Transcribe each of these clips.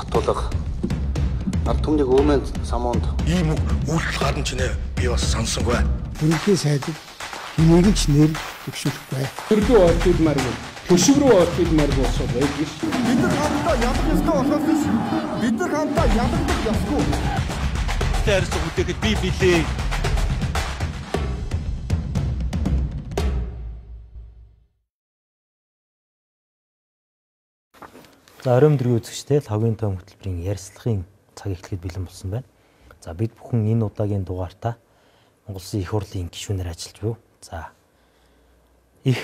Батулга ард түмнийг өвмөнд самуунд ийм үйлдэл гарна ч нэ би бас сонсонгүй. Бүрэлдэхүүн сайдыг хэнийг ч нэр төвшүүлэхгүй. Төрлөө орчуулмааргүй, төшөв рүү орчуулмааргүй болсоо байдаг ш. Бид нар хамтдаа ядах ёстой болохоос биш. Бид нар хамтдаа ядах ёсгүй. Тэрс үтэхэд би билээ. За оройн өдрийн үзэгчтэй логийн том хөтөлбөрийн ярилцлагын цаг эхлэхэд бэлэн болсон байна. За бид бүхэн энэ удаагийн дугаартаа Монгол Улсын их хурлын гишүүнээр ажиллаж буй. За их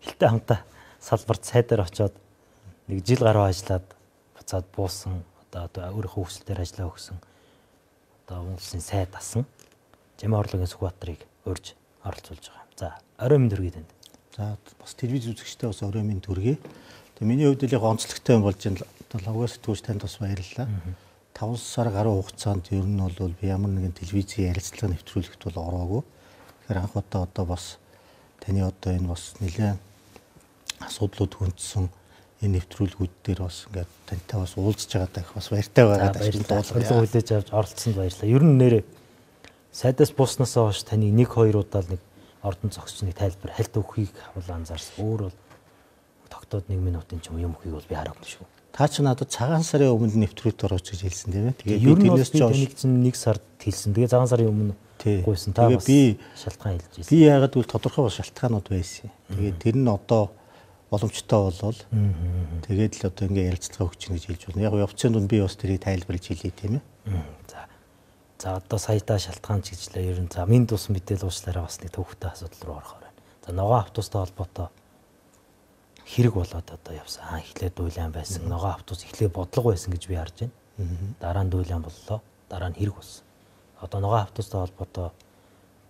хэлтэй хамтаа салбарт сайдаар очоод нэг жил гаруй ажиллаад буцаад буусан одоо өөрийнхөө хүсэлтээр ажиллаа өгсөн одоо Монгол Улсын сайд асан Жамин орлогын Сүхбаатарыг урьж оролцуулж байгаа юм. За оройн мэнд хүргэе танд. За бас телевиз үзэгчтэй бас оройн мэнд хүргэе. Миний хувьд л яг онцлогтой юм болж энэ логоос сэтгүүлч танд бас баярлалаа. 5 сар гаруй хугацаанд ер нь бол би ямар нэгэн телевизийн ярилцлага нэвтрүүлэхт бол ороогүй. Тэгэхээр анх удаа бас таны энэ бас нэлээд асуудлууд хүндсэн энэ нэвтрүүлгүүд дээр бас ингээд тантай бас уулзж байгаа даа бас баяртай байгаа даа. Баярлалаа хүлээж авч оролцсонд баярлалаа. Ер нь нэрээ сайдаас бууснаас хойш таны 1-2 удаа нэг ордон зогсчны тайлбар хальт өгөхийг хавлаа анзаарсан. Өөр бол тогтоод 1 минутын ч юм өгөхийг бол би хараагүй шүү. Та ч надад цагаан сарын өмнө нэвтрүүлэгт орооч гэж хэлсэн тийм ээ. Тэгээд би тэрнээс ч 1 сард хэлсэн. Тэгээд цагаан сарын өмнө гуйсан. Та бас би шалтгаан хэлж байсан. Би яагаад гэвэл тодорхой бас шалтгаанууд байсан. Тэгээд тэр нь одоо боломжтой болвол тэгээд л одоо ингээ ярилцлага өгч гэж хэлж байна. Яг явцын дунд би бас тэрийг тайлбарлаж хэлье тийм ээ. За одоо саяда шалтгаан ч гэжлээ. Ер нь за минь тус мэдээл уучлаарай бас нэг төвхтэй асуудал руу орохоор байна. За ногоон автобустай холбоотой хэрэг болоод одоо явсан. Эхлээд дуйлан байсан. Ногоон автобус эхлээд бодлого байсан гэж би харж байна. Дараа нь дуйлан боллоо. Дараа нь хэрэг болсон. Одоо ногоон автобустай холбоотой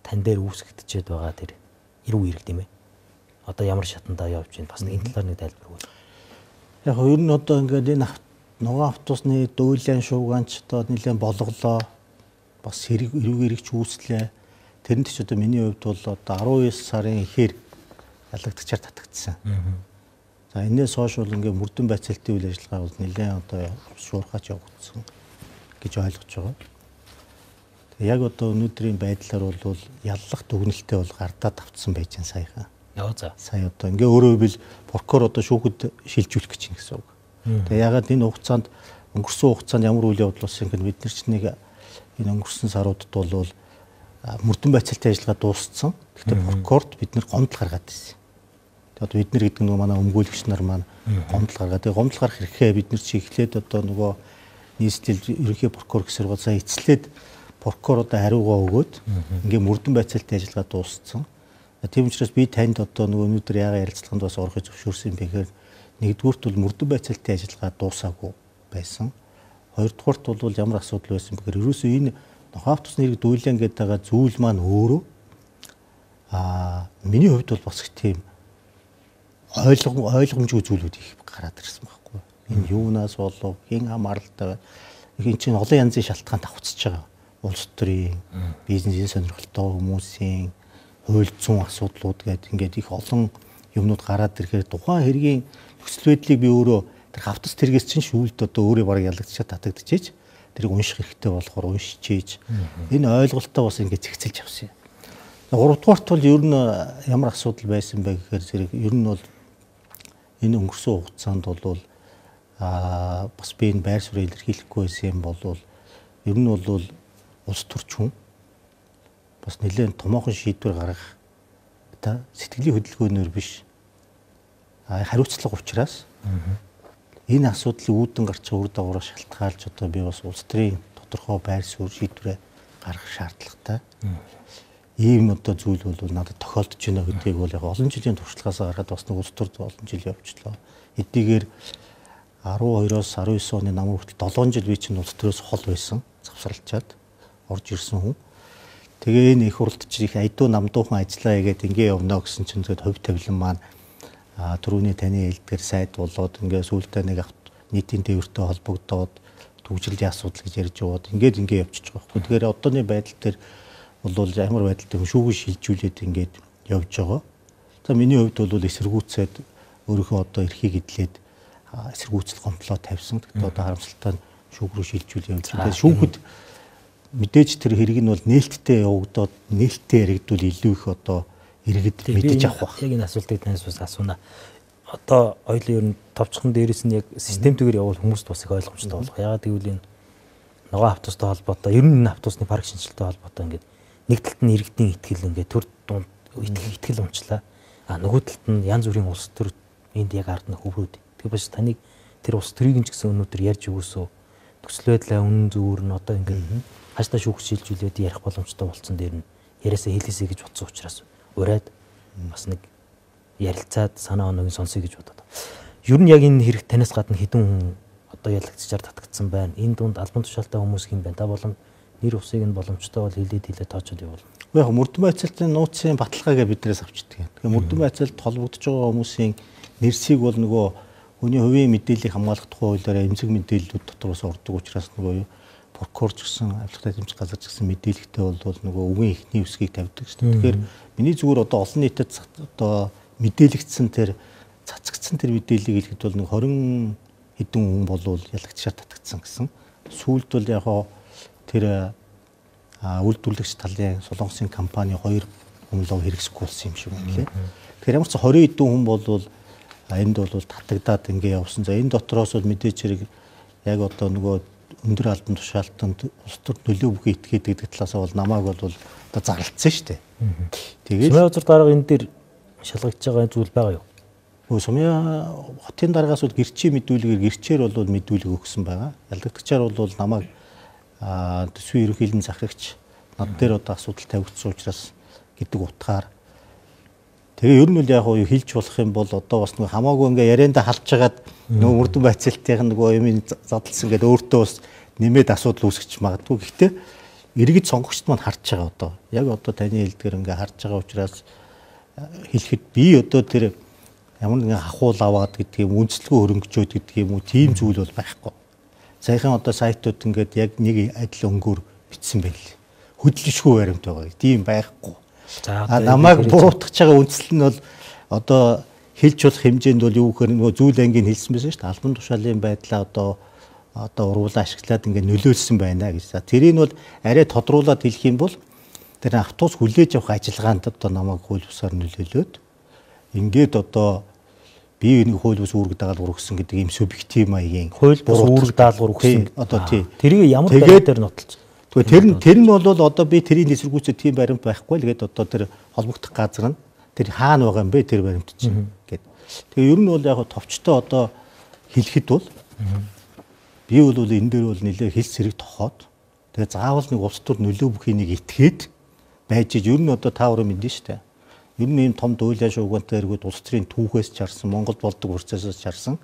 тань дээр үүсгэгдчихэд байгаа тэр эрүү хэрэг тийм ээ. Одоо ямар шатандаа явж байна? Бас нэг энэ талаар нэг тайлбар өгөөч. Яг ер нь одоо ингээд энэ ногоон автобусны дуйлан шууганч одоо нэлээд болголоо. Бас эрүү хэрэгч үүслээ. Тэрэнд ч одоо миний хувьд бол одоо 19 сарын ихээр ялагдчихаар татагдсан. За энэс хойш бол ингээ мөрдөн байцаалтын үйл ажиллагаа бол нэлээд одоо шуурхаач явагдсан гэж ойлгож байгаа. Тэг яг одоо өнөөдрийн байдлаар бол яллах дүгнэлтээ бол гардаад авцсан байж байгаа саяхан. За. Сая одоо ингээ өөрөө бил прокурор одоо шүүхэд шилжүүлэх гэж юм гэсэн үг. Тэг ягаад энэ хугацаанд өнгөрсөн хугацаанд ямар үйл явдал болсон гэвэл бид нар ч нэг энэ өнгөрсөн саруудад бол мөрдөн байцаалтын ажиллагаа дууссан. Гэхдээ прокурорт бид нар гомдол гаргаад байсан. Одоо бид нар гэдэг нь манай өмгөөлөгч нар маань гомдол гаргаад. Тэгээ гомдол гарах хэрэгээ бид нар чи эхлээд одоо нөгөө нийслэл ерөнхий прокурор гэсэр бол сая эцлээд прокурор одоо хариугаа өгөөд ингээ мөрдөн байцаалтын ажиллагаа дууссан. Тийм учраас би танд одоо нөгөө өнөөдөр яагаад ярилцлаганд бас орохыг зөвшөөрсөн юм бэ гэхээр нэгдүгüүрт бол мөрдөн байцаалтын ажиллагаа дуусаагүй байсан. Хоёрдугаарт бол ямар асуудал байсан бэхээр ерөөсөө энэ ногоон автобусны хэрэг дуйлан гэдэг байгаа зүйл маань өөрөө миний хувьд бол бас их тийм ойлгомжгүй зүйлүүд их гараад ирсэн байхгүй. Энэ юунаас болов, хэн хамааралтай байна. Энэ чинь олон янзын шалтгаанд давхцаж байгаа. Улс төрийн, бизнесийн сонирхолтой хүмүүсийн хууль зүйн асуудлууд гэдэг ингээд их олон юмнууд гараад ирэхээр тухайн хэргийн нөхцөл байдлыг би өөрөө тэр автобус тэргээс чинь шүүлд одоо өөрөө бараг ялагдчихад татагдчихэж тэрийг унших хэрэгтэй болохоор уншичээж энэ ойлголтоо бас ингээд зэгцэлж авсан юм. 3 дугаарт бол ер нь ямар асуудал байсан бэ гэхээр зэрэг ер нь бол энэ өнгөрсөн хугацаанд бол бас би энэ байр суурийг илэрхийлэхгүй байсан юм бол ер нь бол улс төрч хүн бас нэлээд томоохон шийдвэр гаргах та сэтгэлийн хөдөлгөөнөөр биш хариуцлага учраас энэ асуудлыг үүдэн гарч байгаа үр дагавраа шалтгаалж одоо би бас улс төрийн тодорхой байр суурь шийдвэрээ гаргах шаардлагатай. Ийм одоо зүйл бол надад тохиолдож байна гэдгийг бол яг олон жилийн туршлагаас гаргаад бас нэг улс төрд олон жил явчлаа. Эдгээр 12-оос 19 оны нам хүртэл 7 жил би чинь улс төрөөс хол байсан. Завсралчаад орж ирсэн хүн. Тэгээ энэ их хурлд чи их айдуу намдуухан ажиллаа гэдэг ингээ явна гэсэн чинь зөвхөн хувь тавилан маань түрүүний таны хэлдгээр сайд болоод ингээ сүүлдээ нэг нийтийн тээвэртэй холбогдоод төвжирлийн асуудал гэж ярьж яваад ингээ явчихж байгаа байхгүй. Тэгэхээр одооны байдал дээр бол ямар байдалтай шүүгэн шилжүүлээд ингээд явж байгаа. За миний хувьд бол эсэргүүцээд өөрийнхөө одоо эрхийг эдлээд эсэргүүцэл гомдлоо тавьсан. Тэгтээ одоо харамсалтай шүүх рүү шилжүүл явж байгаа. Шүүхэд мэдээж тэр хэрэг нь бол нээлттэй явагдаад нээлттэй яригдвал илүү их одоо иргэд мэдэж авах байх. Яг энэ асуултыг танаас бас асууна. Одоо хоёулын ер нь товчхон дээрээс нь яг системтэйгээр явуул хүмүүст бас их ойлгомжтой болох. Ягаад гэвэл энэ ногоон автобустай холбоотой ер нь энэ автобусны парк шинжилгээтэй холбоотой ингээд нэг талд нь иргэдийн итгэл ингээд төр дунд итгэл унчлаа. Нөгөө талд нь янз бүрийн улс төр энд яг ард нь хөврөөд. Тэгэхээр бас таныг тэр улс төрийг ч гэсэн өнөөдөр ярьж өгөөсөө төсөл байдлаа үнэн зөвөр нь одоо ингээд хааштай шүүгчилжүүлээд ярих боломжтой болсон дээр нь яриасаа хэлээсэй гэж бодсон учраас ураад бас нэг ярилцаад санаа оногийн сонсъё гэж бодоод. Ер нь яг энэ хэрэг танаас гадна хэдэн хүн одоо ялагдчихаар татагдсан байна. Энэ дунд албан тушаалтай хүмүүс хэм байна. Та болон нэр усыг нь боломжтой бол хилээд тоочод явуул. Яг мөрдөн байцаалтын нууцын баталгаагаа биднээс авчдаг. Тэгэхээр мөрдөн байцаалт холбогдож байгаа хүмүүсийн нэрсийг бол нөгөө хүний хувийн мэдээллийг хамгаалах тухай хуулиараа эмзэг мэдээллүүд дотроос ордог учраас нөгөө прокурорч гэсэн авилгатай тэмцэх газар ч гэсэн мэдээлэлтэй бол нөгөө үгийн эхний үсгийг тавьдаг шүү дээ. Тэгэхээр миний зүгээр одоо олон нийтэд одоо мэдээлэгдсэн тэр цацагдсан тэр мэдээллийг хэлэхэд бол нэг 20 хэдэн хүн болвол ялагдчихаар татагдсан гэсэн. Сүүлд бол яг тэр үйлдвэрлэгч талын Солонгосын компани 2 хүмлог хэрэгсэхгүй болсон юм шиг байна лээ. Тэгэхээр ямар ч 20 хэдэн хүн болвол энд бол татагдаад ингээ явсан. За энэ дотроос бол мэдээж хэрэг яг одоо нөгөө өндөр албан тушаалтанд улс төр нөлөө бүхий итгээд гэдэг талаас бол намайг бол одоо зарлцсан шүү дээ. Тэгээд Сумын узар дарга энэ дээр шалгагдж байгаа зүйл байгаа юу? Сумын хотын дараагаас бол гэрчийн мэдүүлгээр гэрчээр бол мэдүүлэг өгсөн байгаа. Ялдагдагчаар бол намайг төсвийн ерөнхийлөн захирагч над дээр одоо асуудал тавигдсан учраас гэдэг утгаар тэгээ ер нь бол яг юу хэлж болох юм бол одоо бас нэг хамаагүй ингээ ярианда халж хагаад нөгөө мөрдөн байцаалтын нөгөө юм задлсан гэдэг өөртөө бас нэмээд асуудал үүсгэж магадгүй. Гэхдээ иргэд сонгогчд маань харж байгаа одоо. Яг одоо таны хэлдгээр ингээ харж байгаа учраас хэлэхэд би одоо тэр ямар нэгэн хахуул аваад гэдэг юм үндэслэгүй хөрөнгөжөөд гэдэг юм уу тийм зүйл бол байхгүй. Саяхан одоо сайтууд ингээд яг нэг адил өнгөөр бичсэн байл. Хөдөлшгүй баримт байгаа. Тийм байхгүй. Намайг буруутгах байгаа үндэслэл нь бол одоо хэлж болох хэмжээнд бол юу гэхээр нөгөө зүйл ангийн хэлсэн байсан шүү дээ. Албан тушаалын байдлаа одоо ургуулаа ашиглаад ингээд нөлөөлсөн байна гэж. Тэрийг бол арай тодруулаад хэлэх юм бол тэр автобус хүлээж авах ажиллагаанд одоо намайг хууль бусаар нөлөөлөөд ингээд одоо би нэг хууль бус үүрэг дагалгавар өгсөн гэдэг юм субъектив маягийн хууль бус үүрэг дагалгавар өгсөн. Одоо тий. Тэрийг ямар байдлаар нотолж. Тэгэхээр тэр нь бол одоо би тэрийн эсэргүүцээ тийм баримт байхгүй л гээд одоо тэр холбогдох газар нь тэр хаана байгаа юм бэ тэр баримт чинь гээд. Тэгээ ер нь бол яг товчтой одоо хэлэхэд бол би бол энэ дээр бол нэлээ хэлс зэрэг тохоод тэгээ заавал нэг улс төр нөлөө бүхий нэг итгээд байж ер нь одоо та өөрөө мэдэн штэ. Ер нь ийм том дуйлаа шуугантай эргүүд улс төрийн түүхээс чарсан Монгол болдог процессоос чарсан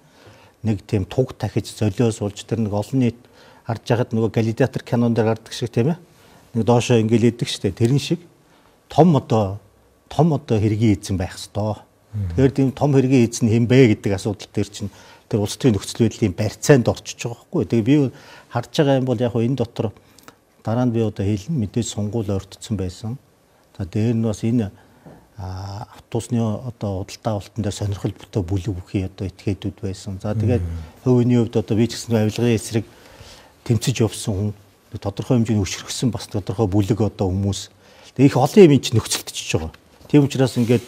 нэг тийм туг тахиж золиос улж тэр нэг олон нийт харж байхад нөгөө Галидиатор кинон дээр гардаг шиг тийм ээ. Нэг доошоо ингээл идэг штэ. Тэрэн шиг том одоо хэргийн эзэн байх ёстой. Тэгэхээр тийм том хэргийн эзэн хэм бэ гэдэг асуудал дээр чинь тэр улс төрийн нөхцөл байдлын барьцаанд орчиж байгаа байхгүй. Тэгээ би харж байгаа юм бол яг энэ дотор дараа нь би одоо хэлнэ мэдээж сунгуул ойртсон байсан. За дээр нь бас энэ автобусны одоо худалдаа авалтан дээр сонирхол бүтээ бүлэг бүхий одоо этгээдүүд байсан. За тэгээд хувийн хувьд одоо би ч гэсэн авилгын эсрэг тэмцэж явсан хүн тодорхой хэмжээний өчрөгсөн бас тодорхой бүлэг одоо хүмүүс. Тэгээ их олон юм чинь нөхцөлдөж байгаа. Тийм учраас ингээд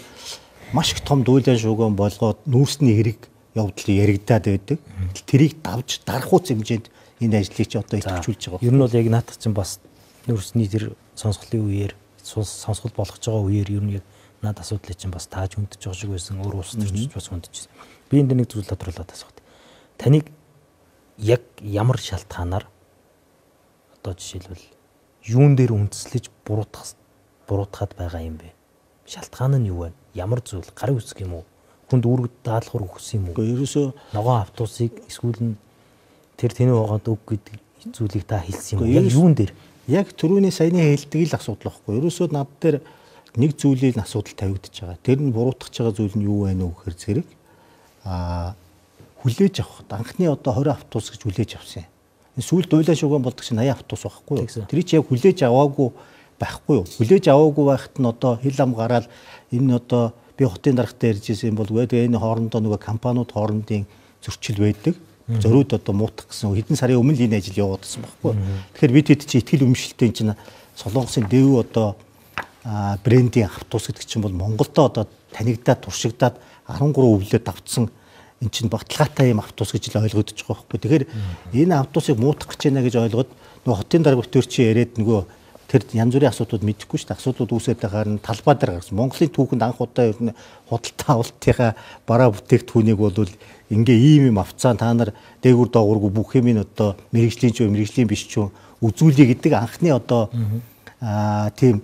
маш их том дуйлан шууган болгоод нүүрсний хэрэг явдал яригадаад байдаг. Тэрийг давж дарахуйц хэмжээнд энэ ажлыг чи одоо идэвхжүүлж байгаа. Ер нь бол яг наадах чинь бас нүүрсний тэр сонсголын үеэр сонсгол болгож байгаа үеэр ер нь яг над асуудлыг чинь бас тааж хүндэж байгаа шиг байсан. Өөр улс төрчид бас хүндэж байсан. Би энэ нэг зүйл тодруулаад асуух. Таныг яг ямар шалтгаанаар одоо жишээлбэл юун дээр үндэслэж буруутгаад байгаа юм бэ? Шалтгаан нь юу вэ? Ямар зүйл? Гарын үсэг юм уу? Хүнд үүрэг даалгавар өгсөн юм уу? Гэхдээ ерөөсөө ногоон автобусыг эсвэл нь тэр тэнэг байгаад өг гэдэг зүйлийг та хэлсэн юм уу? Яг юун дээр? Яг түрүүний саяны хэлдэг л асуудал байхгүй. Ерөөсөө над дээр нэг зүйлийн асуудал тавигдчихж байгаа. Тэр нь буруутгах байгаа зүйл нь юу вэ нэ гэхээр зэрэг хүлээж авах. Анхны одоо 20 автобус гэж хүлээж авсан. Энэ сүүл дуйлаа шуган болдог чинь 80 автобус байхгүй юу? Тэр чи яг хүлээж аваагүй байхгүй юу? Хүлээж аваагүй байхад нь одоо хил ам гараад энэ одоо би хотын дарагтай ярьж ирсэн юм бол тэгээ энэ хоорондоо нөгөө компаниуд хоорондын зөрчил байдаг. Зориуд одоо муутах гэсэн хэдэн сарын өмнө л энэ ажил яваад байсан байхгүй. Тэгэхээр бид хэд чи ихтгэл өмшөлтөнд чинь Солонгосын дэв одоо брендийн автобус гэдэг чинь бол Монголдо одоо танигдаад туршигдаад 13 өвлөд давтсан эн чинь баталгаатай юм автобус гэж л ойлгогдож байгаа байхгүй. Тэгэхээр энэ автобусыг муутах гэж байна гэж ойлгоод нөгөө хотын дарга битүүр чи яриад нөгөө тэр янз бүрийн асуудлууд мэдэхгүй шүү дээ. Асуудлууд үүсээд байгаар нь талбай дээр гарсан. Монголын түүхэнд анх удаа ер нь худалдаа авалтынхаа бараа бүтээгдэхүүнийг бол ингээ ийм юм авцаа та нар дээгүр доогуургүй бүх юм одоо мэрэгжлийн ч мэрэгжлийн биш ч үзүүлье гэдэг анхны одоо тийм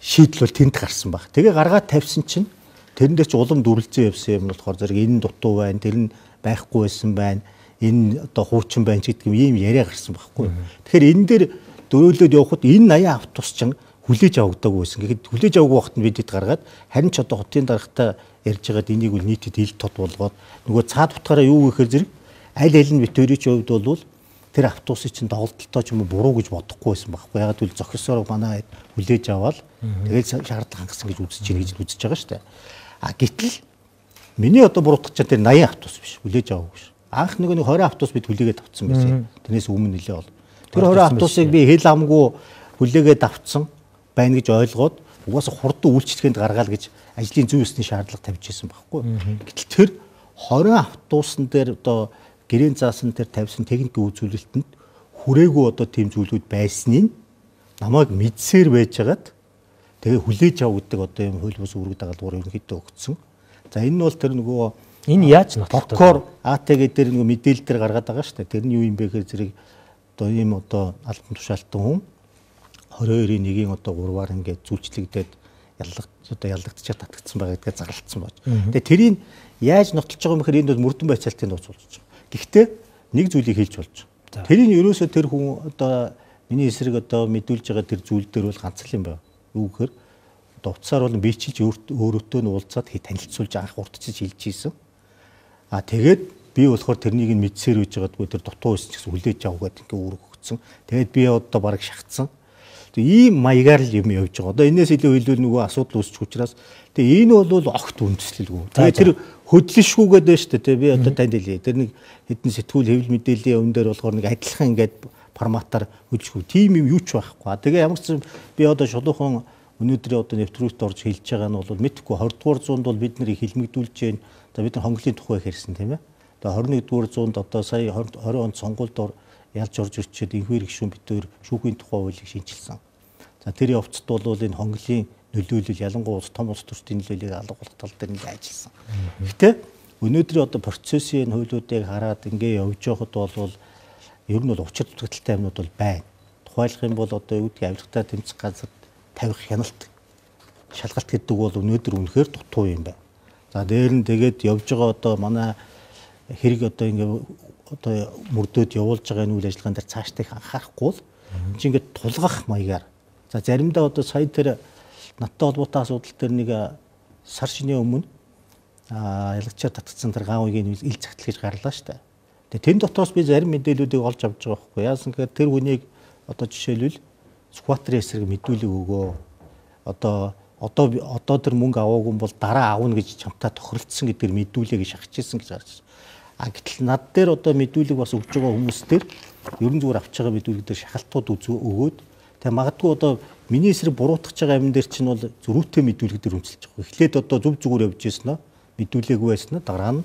шийдэл бол тэнд гарсан баг. Тэгээ гаргаад тавьсан чинь тэрэн дээр ч улам дүрлцэн явсан юм болохоор зэрэг энэ дутуу байна, тэр нь байхгүй байсан байна, энэ одоо хуучин байна гэдэг юм яриа гарсан байхгүй. Тэгэхээр энэ дээр дөрөөлөд явхад энэ 80 автобус чинь хүлээж авагдаагүй байсан. Гэхдээ хүлээж аваагүй вахт нь бид хэд гаргаад харин ч одоо хотын даргатай ярьж байгаад энийг үл нийтэд ил тод болгоод нөгөө цаад утгаараа юу гэхээр зэрэг аль нь битүүрийн хувьд бол тэр автобусыг чинь доголдолтой ч юм уу буруу гэж бодохгүй байсан байхгүй. Ягаад гэвэл зохисоор манай хүлээж аваад тэгээд шаардлага хангасан гэж үзэж чинь гэж үзэж байгаа шүү дээ. Гэтэл миний одоо буруутгах чинь тэр 80 автобус биш. Хүлээж аваагүй ш. Анх нэг 20 автобус бид хүлээгээд авцсан байсан. Тэрнээс өмнө нэлээ бол. Тэр 20 автобусыг би хэл амгүй хүлээгээд авцсан байна гэж ойлгоод угаасаа хурдан үйлчлэгэнд гаргаал гэж ажлын зүй ёсны шаардлага тавьж ирсэн байхгүй. Гэтэл тэр 20 автобусан дээр одоо гэрээний заасан тэр тавьсан техникийн үзүүлэлтэнд хүрээгүй одоо тийм зүйлүүд байсныг намайг мэдсээр байжгаад тэгээ хүлээж авдаг одоо юм хууль бус үүрэг дагалгавар ерөнхийдөө өгсөн. За энэ нь бол тэр нөгөө энэ яаж нотолтой? Бокор АТГ дээр нөгөө мэдээлэл дээр гаргаад байгаа шүү дээ. Тэр нь юу юм бэ гэхээр зэрэг одоо ийм одоо албан тушаалтан хүн 22-ийн 1-ийн одоо 3-аар ингээд зүйлчлэгдээд яллагдчихад татагдсан байгаа гэдгээ зарлцсан байна. Тэгээ тэрийг яаж нотолж байгаа юм гэхээр энэ бол мөрдөн байцаалтын нууц болж байгаа. Гэхдээ нэг зүйлийг хэлж болж байгаа. Тэрийг ерөөсөө тэр хүн одоо миний эсрэг одоо мэдүүлж байгаа тэр зүйл дээр бол ганц л юм байна. Юу гэхээр одоо утсаар бол би чилж өөрөөтөө нь уулзаад танилцуулж анх урдчилж хэлж ийсэн. Тэгээд би болохоор тэрнийг нь мэдсээр үйж байгаадгүй тэр дутуу байсан ч гэсэн хүлээж авах гэдэг ингээ үүрэг өгсөн. Тэгээд би одоо бараг шахацсан. Ийм маягаар л юм явж байгаа. Одоо энэс илүү хэлбэл нөгөө асуудал үүсчих учраас тэгээ энэ бол огт үндэслэлгүй. Тэгээ тэр хөдлөшгүйгээд байна шүү дээ. Би одоо танд хэлье. Тэр нэг хэдэн сэтгүүл хэвлэл мэдээллийн өмнө дээр болохоор нэг адилхан ингээд форматаар хөдлөшгүй. Тим юм юу ч байхгүй. Тэгээ ямар ч би одоо шулуухан өнөөдрийн одоо нэвтрүүлэгт орж хэлж байгаа нь бол мэдхгүй 20 дугаар зуунд бол бид нарыг хилмигдүүлж जैन. За бид нар хонглын тухай хэрсэн тийм ээ. Тэгээ 21 дугаар зуунд одоо сая 20 онд сонгуульд ялж орж ирчээд инхвэр гишүүн битээр шүүхийн тухай хуулийг шинжилсэн. За тэр явцад бол энэ хонглын нөлөөлөл ялангуяа том улс төрчдийн нөлөөллийг алгуулах тал дээр нэг ажилласан. Гэхдээ өнөөдрийн одоо процессын хуулиудыг хараад ингээ явж байхад бол ер нь бол учир дутагдaltaй юмнууд бол байна. Тухайлах юм бол одоо юу гэдгийг авилгатай тэмцэх газар тавих хяналт шалгалт гэдэг бол өнөөдөр үнэхээр дутуу юм байна. За дээр нь тэгээд явж байгаа одоо манай хэрэг одоо ингээ одоо мөрдөөд явуулж байгаа энэ үйл ажиллагаан дээр цаашдаа их анхаарахгүй л чи ингээд тулгах маягаар за заримдаа одоо сая тэр надтай холбоотой асуудал дээр нэг сар шинийн өмнө ялагчаар татгдсан тэр гаавыгийн ил загтал гэж гарлаа штэ. Тэгээ тэн дотроос би зарим мэдээллүүдийг олж авч байгаа байхгүй яасан гэхээр тэр хүнийг одоо жишээлбэл скватрын эсрэг мэдүүлэг өгөө одоо тэр мөнгө аваагүй бол дараа авна гэж чамтай тохиролцсон гэдгээр мэдүүлээг шахаж ирсэн гэж гарч ирсэн. Гэтэл над дээр одоо мэдүүлэг бас өгж байгаа хүмүүс дээр ерөн зүгээр авч байгаа мэдүүлэг дээр шахалтууд өгөөд тэгээ магадгүй одоо миний эсрэг буруутгах байгаа амин дээр чинь бол зөрүүтэй мэдүүлэг дээр үнэлж байгаа. Эхлээд одоо зүг зүгээр явж ирсэн нь мэдүүлээгүй байсан нь дараа нь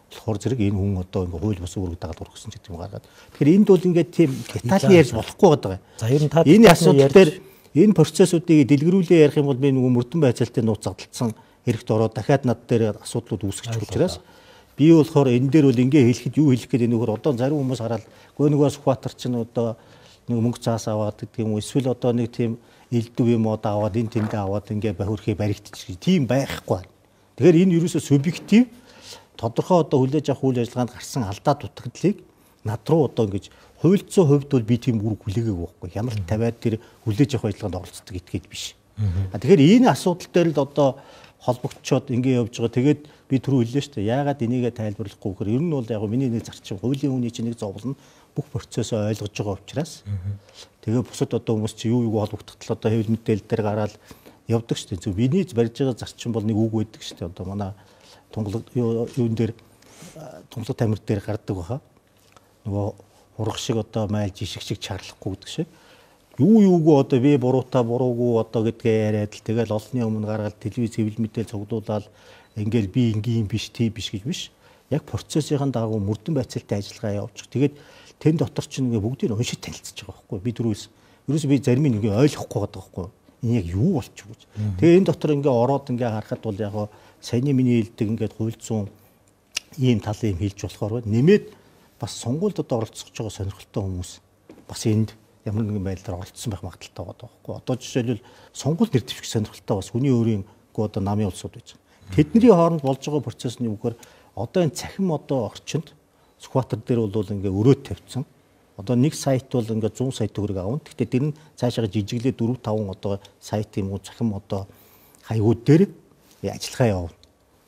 болохоор зэрэг энэ хүн одоо ингээ хууль бус үүрэг дагаад өргөсөн гэдэг юм гаргаад. Тэгэхээр энд бол ингээ тийм детальны ярьж болохгүй байгаа. За ер нь та энэ асуудал дээр энэ процессуудыг дэлгэрүүлээ ярих юм бол би нөгөө мөрдөн байцаалтын нууц задлалсан хэрэгт ороод дахиад над дээр асуудлууд үүсгэж учраас би болохоор энэ дээр бол ингээ хэлэхэд юу хэлэх гээд нөхөр одоо зарим хүмүүс хараад нөгөө скватер чинь одоо нэг мөнгө цаас аваад гэдэг юм уу эсвэл одоо нэг тийм элдв юм одоо аваад энэ тэндээ аваад ингээ бахиурхий баригдчих тийм байхгүй. Тэгэхээр энэ ерөөсөө субъектив тодорхой одоо хүлээж авах үйл ажиллагаанд гарсан алдаа дутагдлыг над руу одоо ингэж хуульцсан хувьд бол би тийм үр хүлээгээгүй байхгүй. Ямар ч тавиад тэр хүлээж авах ажиллагаанд оролцдог итгэж биш. Тэгэхээр энэ асуудал дээр л одоо холбогдчоод ингэ явж байгаа. Тэгээд би түрүү хэллээ шүү дээ. Яагаад энийгээ тайлбарлахгүй гэхээр ер нь бол яг миний нэг зарчим хуулийн хүний чинь нэг зовлон бүх процессоо ойлгож байгаа учраас тэгээ бусад одоо хүмүүс чи юу холбогдтол одоо хэвлэл мэдээлэл дээр гараад явдаг шүү дээ. Зөв миний барьж байгаа зарчим бол нэг үг байдаг шүү дээ. Одоо манай тунгалаг юун дээр тунгалаг тамир дээр гардаг баха. Нөгөө урах шиг одоо майлж ишиг шиг чарлахгүй гэдэг шиг. Юугүй одоо би буруугүй одоо гэдгээ яриад л тэгэл олонний өмнө гаргаад телевиз хэвлэл мэдээл цуглуулаад ингээл би ингийн биш тийм биш гэж биш. Яг процессын дагуу мөрдөн байцaalтай ажиллагаа явуучих. Тэгээд тэн дотор ч ингээ бүгдийг уншиж танилцж байгаа байхгүй. Би дөрөвс ерөөсөө би зарим нь ингээ ойлгохгүй байгаа байхгүй. Энэ яг юу болчих вэ гэж. Тэгээ энэ дотор ингээ ороод ингээ харахад бол яг саяны миний хэлдэг ингээ хуйлцсан ийм тал юм хэлж болохоор нэмээд бас сонгуульд одоо оролцож байгаа сонирхолтой хүмүүс бас энд ямар нэгэн байдлаар оролцсон байх магадaltaй байгаа байхгүй. Одоо жишээлбэл сонгуульд нэр дэвших сонирхолтой бас хүний өөрийн одоо намын улсууд байж байгаа. Тэдний хооронд болж байгаа процесс нь юу гэхээр одоо энэ цахим одоо орчинд Скватер дээр бол ингээ өрөөд тавьсан. Одоо нэг сайт бол ингээ 100 сая төгрөг авна. Гэхдээ тэр нь цаашаа жижиглээ 4-5 одоо сайт юм уу цахим одоо хаягууд дээр ажиллагаа явуулна.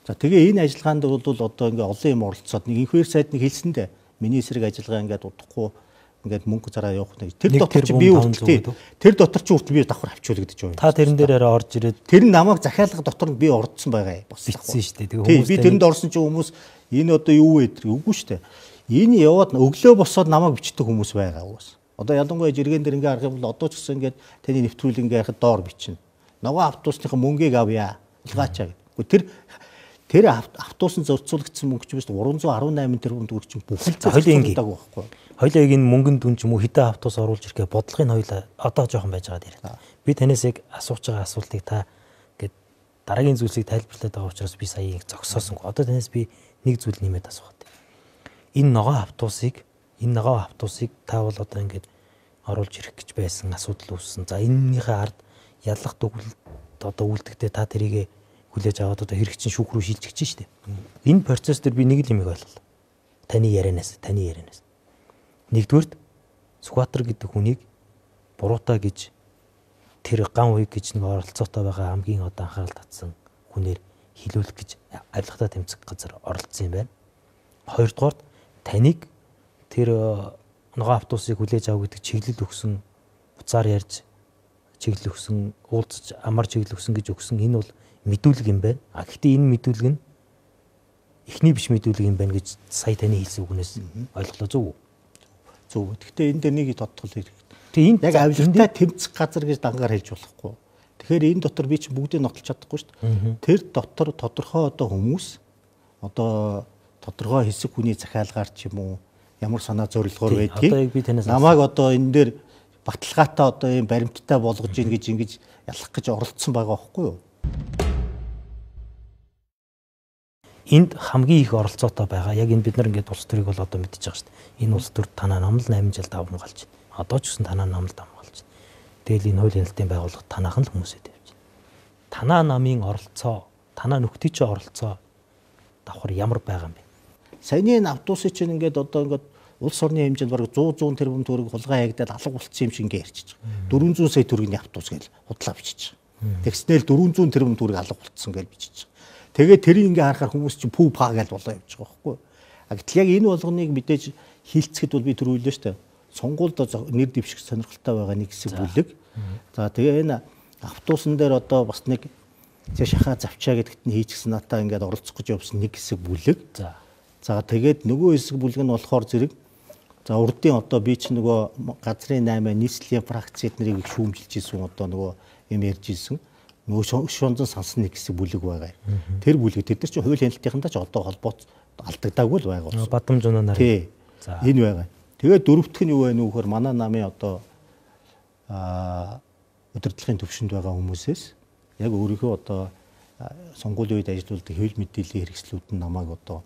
За тэгээ энэ ажиллагаанд бол одоо ингээ олон юм оролцоод нэг инхээр сайд нэг хэлсэндээ миний эсрэг ажиллагаа ингээд удахгүй ингээд мөнгө зараа явах нэг тэр дотор чи би үргэлжлээ. Тэр дотор чи үргэлж би давхар авчуулагдаж байгаа. Та тэрэн дээр арай орж ирээд тэр нь намайг захиалга дотор нь би ордсон байгаа бас бичсэн шүү дээ. Тэгээ хүмүүс би тэрэнд орсон чи хүмүүс энэ одоо юу вэ гэдэг үгүй шүү дээ. Энэ яваад өглөө босоод намайг бичдэг хүмүүс байгаа уус. Одоо ялангуяа жиргэн дээр ингээ харах юм бол одоо ч гэсэн ингээд таны нэвтрүүлэг ингээ харахад доор бичнэ. Нөгөө автобусныхаа мөнгийг авъя. Илгаачаа гэдэг. Тэр автобусын зорцуулагдсан мөнгө ч биш 318 тэрбум төгрөг чинь бүхэл зорцуулдаг байхгүй. Хоёлаа яг энэ мөнгөнд дүн ч юм уу хэдэн автобус оруулж ирэхээ бодлогын хоёлаа одоо жоохон байж байгаа даа. Би танаас яг асууж байгаа асуултыг та ингээд дараагийн зүйлсийг тайлбарлаад байгаа учраас би сая яг зогсоосон. Одоо танаас би нэг зүйл нэмээд асуух. Энэ ногоон автобусыг та бол одоо ингээд оруулж ирэх гэж байсан асуудал үүссэн. За энэнийхээ ард ялах төгөлд одоо үлдэхдээ та тэрийг хүлээж аваад одоо хэрэгчин шүүх рүү шилжиж штеп. Энэ процесс дээр би нэг л юм ойлголоо. Таны ярианаас. Нэгдүгürt Скватер гэдэг хүнийг буруутай гэж тэр ган уйг гэж нэг оролцоотой байгаа хамгийн одоо анхаарал татсан хүнээр хилүүлэх гэж авилгатай тэмцэх газар оролцсон юм байна. Хоёрдугаар таныг тэр ногоон автобусыг хүлээж авах гэдэг чиглэл өгсөн, буцаар ярьж чиглэл өгсөн, уулзаж амар чиглэл өгсөн гэж өгсөн энэ бол мэдүүлэг юм байна. Гэхдээ энэ мэдүүлэг нь эхний биш мэдүүлэг юм байна гэж сая таны хэлсэн үгнээс ойлголоо зөв үү? Зөв. Гэхдээ энэ дээр нэг тодтол хэрэгтэй. Тэгээ энэ яг авилгатай тэмцэх газар гэж дангаар хэлж болохгүй. Тэгэхээр энэ дотор би чи бүгдийг нотолж чадахгүй шүү дээ. Тэр дотор тодорхой одоо хүмүүс одоо тодорхой хэсэг хүний захиалгаар ч юм уу ямар санаа зорилгоор байдгийг намайг одоо энэ дээр баталгаатай одоо юм баримттай болгож ийн гэж ингэж ялах гэж оролцсон байгаа байхгүй юу? Энд хамгийн их оролцоотой байгаа. Яг энэ бид нар ингээд улс төрийг бол одоо мэдчихэж байгаа шүү дээ. Энэ улс төр танаа номлол 8 жил давмгалж байна. Одоо ч гэсэн танаа номлол давмгалж байна. Тэгэл энэ хуулийн хяналтын байгууллага танаахан л хүмүүсээ тавьж байна. Танаа намын оролцоо, танаа нөхдийн чинь оролцоо давхар ямар байгаа юм бэ? Саяны энэ автобусын чинь ингээд одоо ингээд улс орны хэмжээнд бараг 100 тэрбум төгрөг хулгай хаягдаад алга болцсон юм шиг ингээд ярьчих. 400 сая төгрөгийн автобус гэж худлаа бичиж байгаа. Тэгснээл 400 тэрбум төгрөг алга болцсон гэж бичиж байгаа. Тэгээд тэрийг ингээ харахаар хүмүүс чинь пүү паа гэж болоо явж байгаа байхгүй. Гэтэл яг энэ болгоныг мэдээж хилцэхэд бол би түрүүлээ шүү дээ. Сонгуульд нэр дэвших сонирхолтой байгаа нэг хэсэг бүлэг. За тэгээ энэ автобусан дээр одоо бас нэг шахаа завчаа гэдэгт нь хийчихсэн натаа ингээд оролцох гэж явсан нэг хэсэг бүлэг. За тэгээд нөгөө хэсэг бүлэг нь болохоор зэрэг за урдын одоо би ч нөгөө газрын 8 нийслэлийн фракц эднэрийг шүүмжилж ирсэн одоо нөгөө юм ярьж ирсэн. Нөгөө шунзан сансан нэг хэсэг бүлэг байгаа. Тэр бүлэг тэд нар чинь хууль хяналтынхандаа ч одоо холбооц алдагдаагүй л байгаа. Бадам жунанаар. Тий. Энэ байгаа. Тэгээд дөрөвдөх нь юу вэ нөхөр манай намын одоо удирдлагын төвшөнд байгаа хүмүүсээс яг өөрийнхөө одоо сонгуулийн үед ажилладаг хэвлэл мэдээллийн хэрэгслүүд нь намайг одоо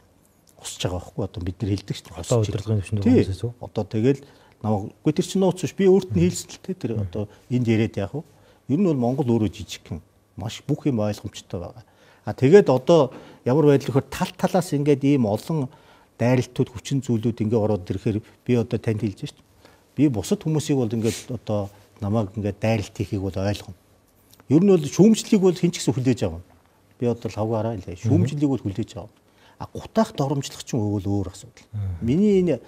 усж байгаа байхгүй одоо бид нар хэлдэг чинь одоо удирдлагын төвшөнд байгаа хүмүүсээс үү? Одоо тэгэл намайг үгүй тэр чинь нууц биш би өөрт нь хэлсэн л тэр одоо энд яриад яах вэ? Ер нь бол Монгол өөрөө жижигхэн маш бүх юм ойлгомжтой байгаа. Тэгээд одоо ямар байдал вөхөр тал талаас ингээд ийм олон дайралтууд хүчин зүйлүүд ингээд ороод ирэхээр би одоо танд хэлж шít. Би бусад хүмүүсийг бол ингээд одоо намайг ингээд дайралт хийхийг бол ойлгоно. Ер нь бол шүүмжлэлийг бол хэн ч гэсэн хүлээж авна. Би одоо лавгаараа л шүүмжлэлийг бол хүлээж авна. Гутаах доромжлох чинь өөр асуудал. Миний энэ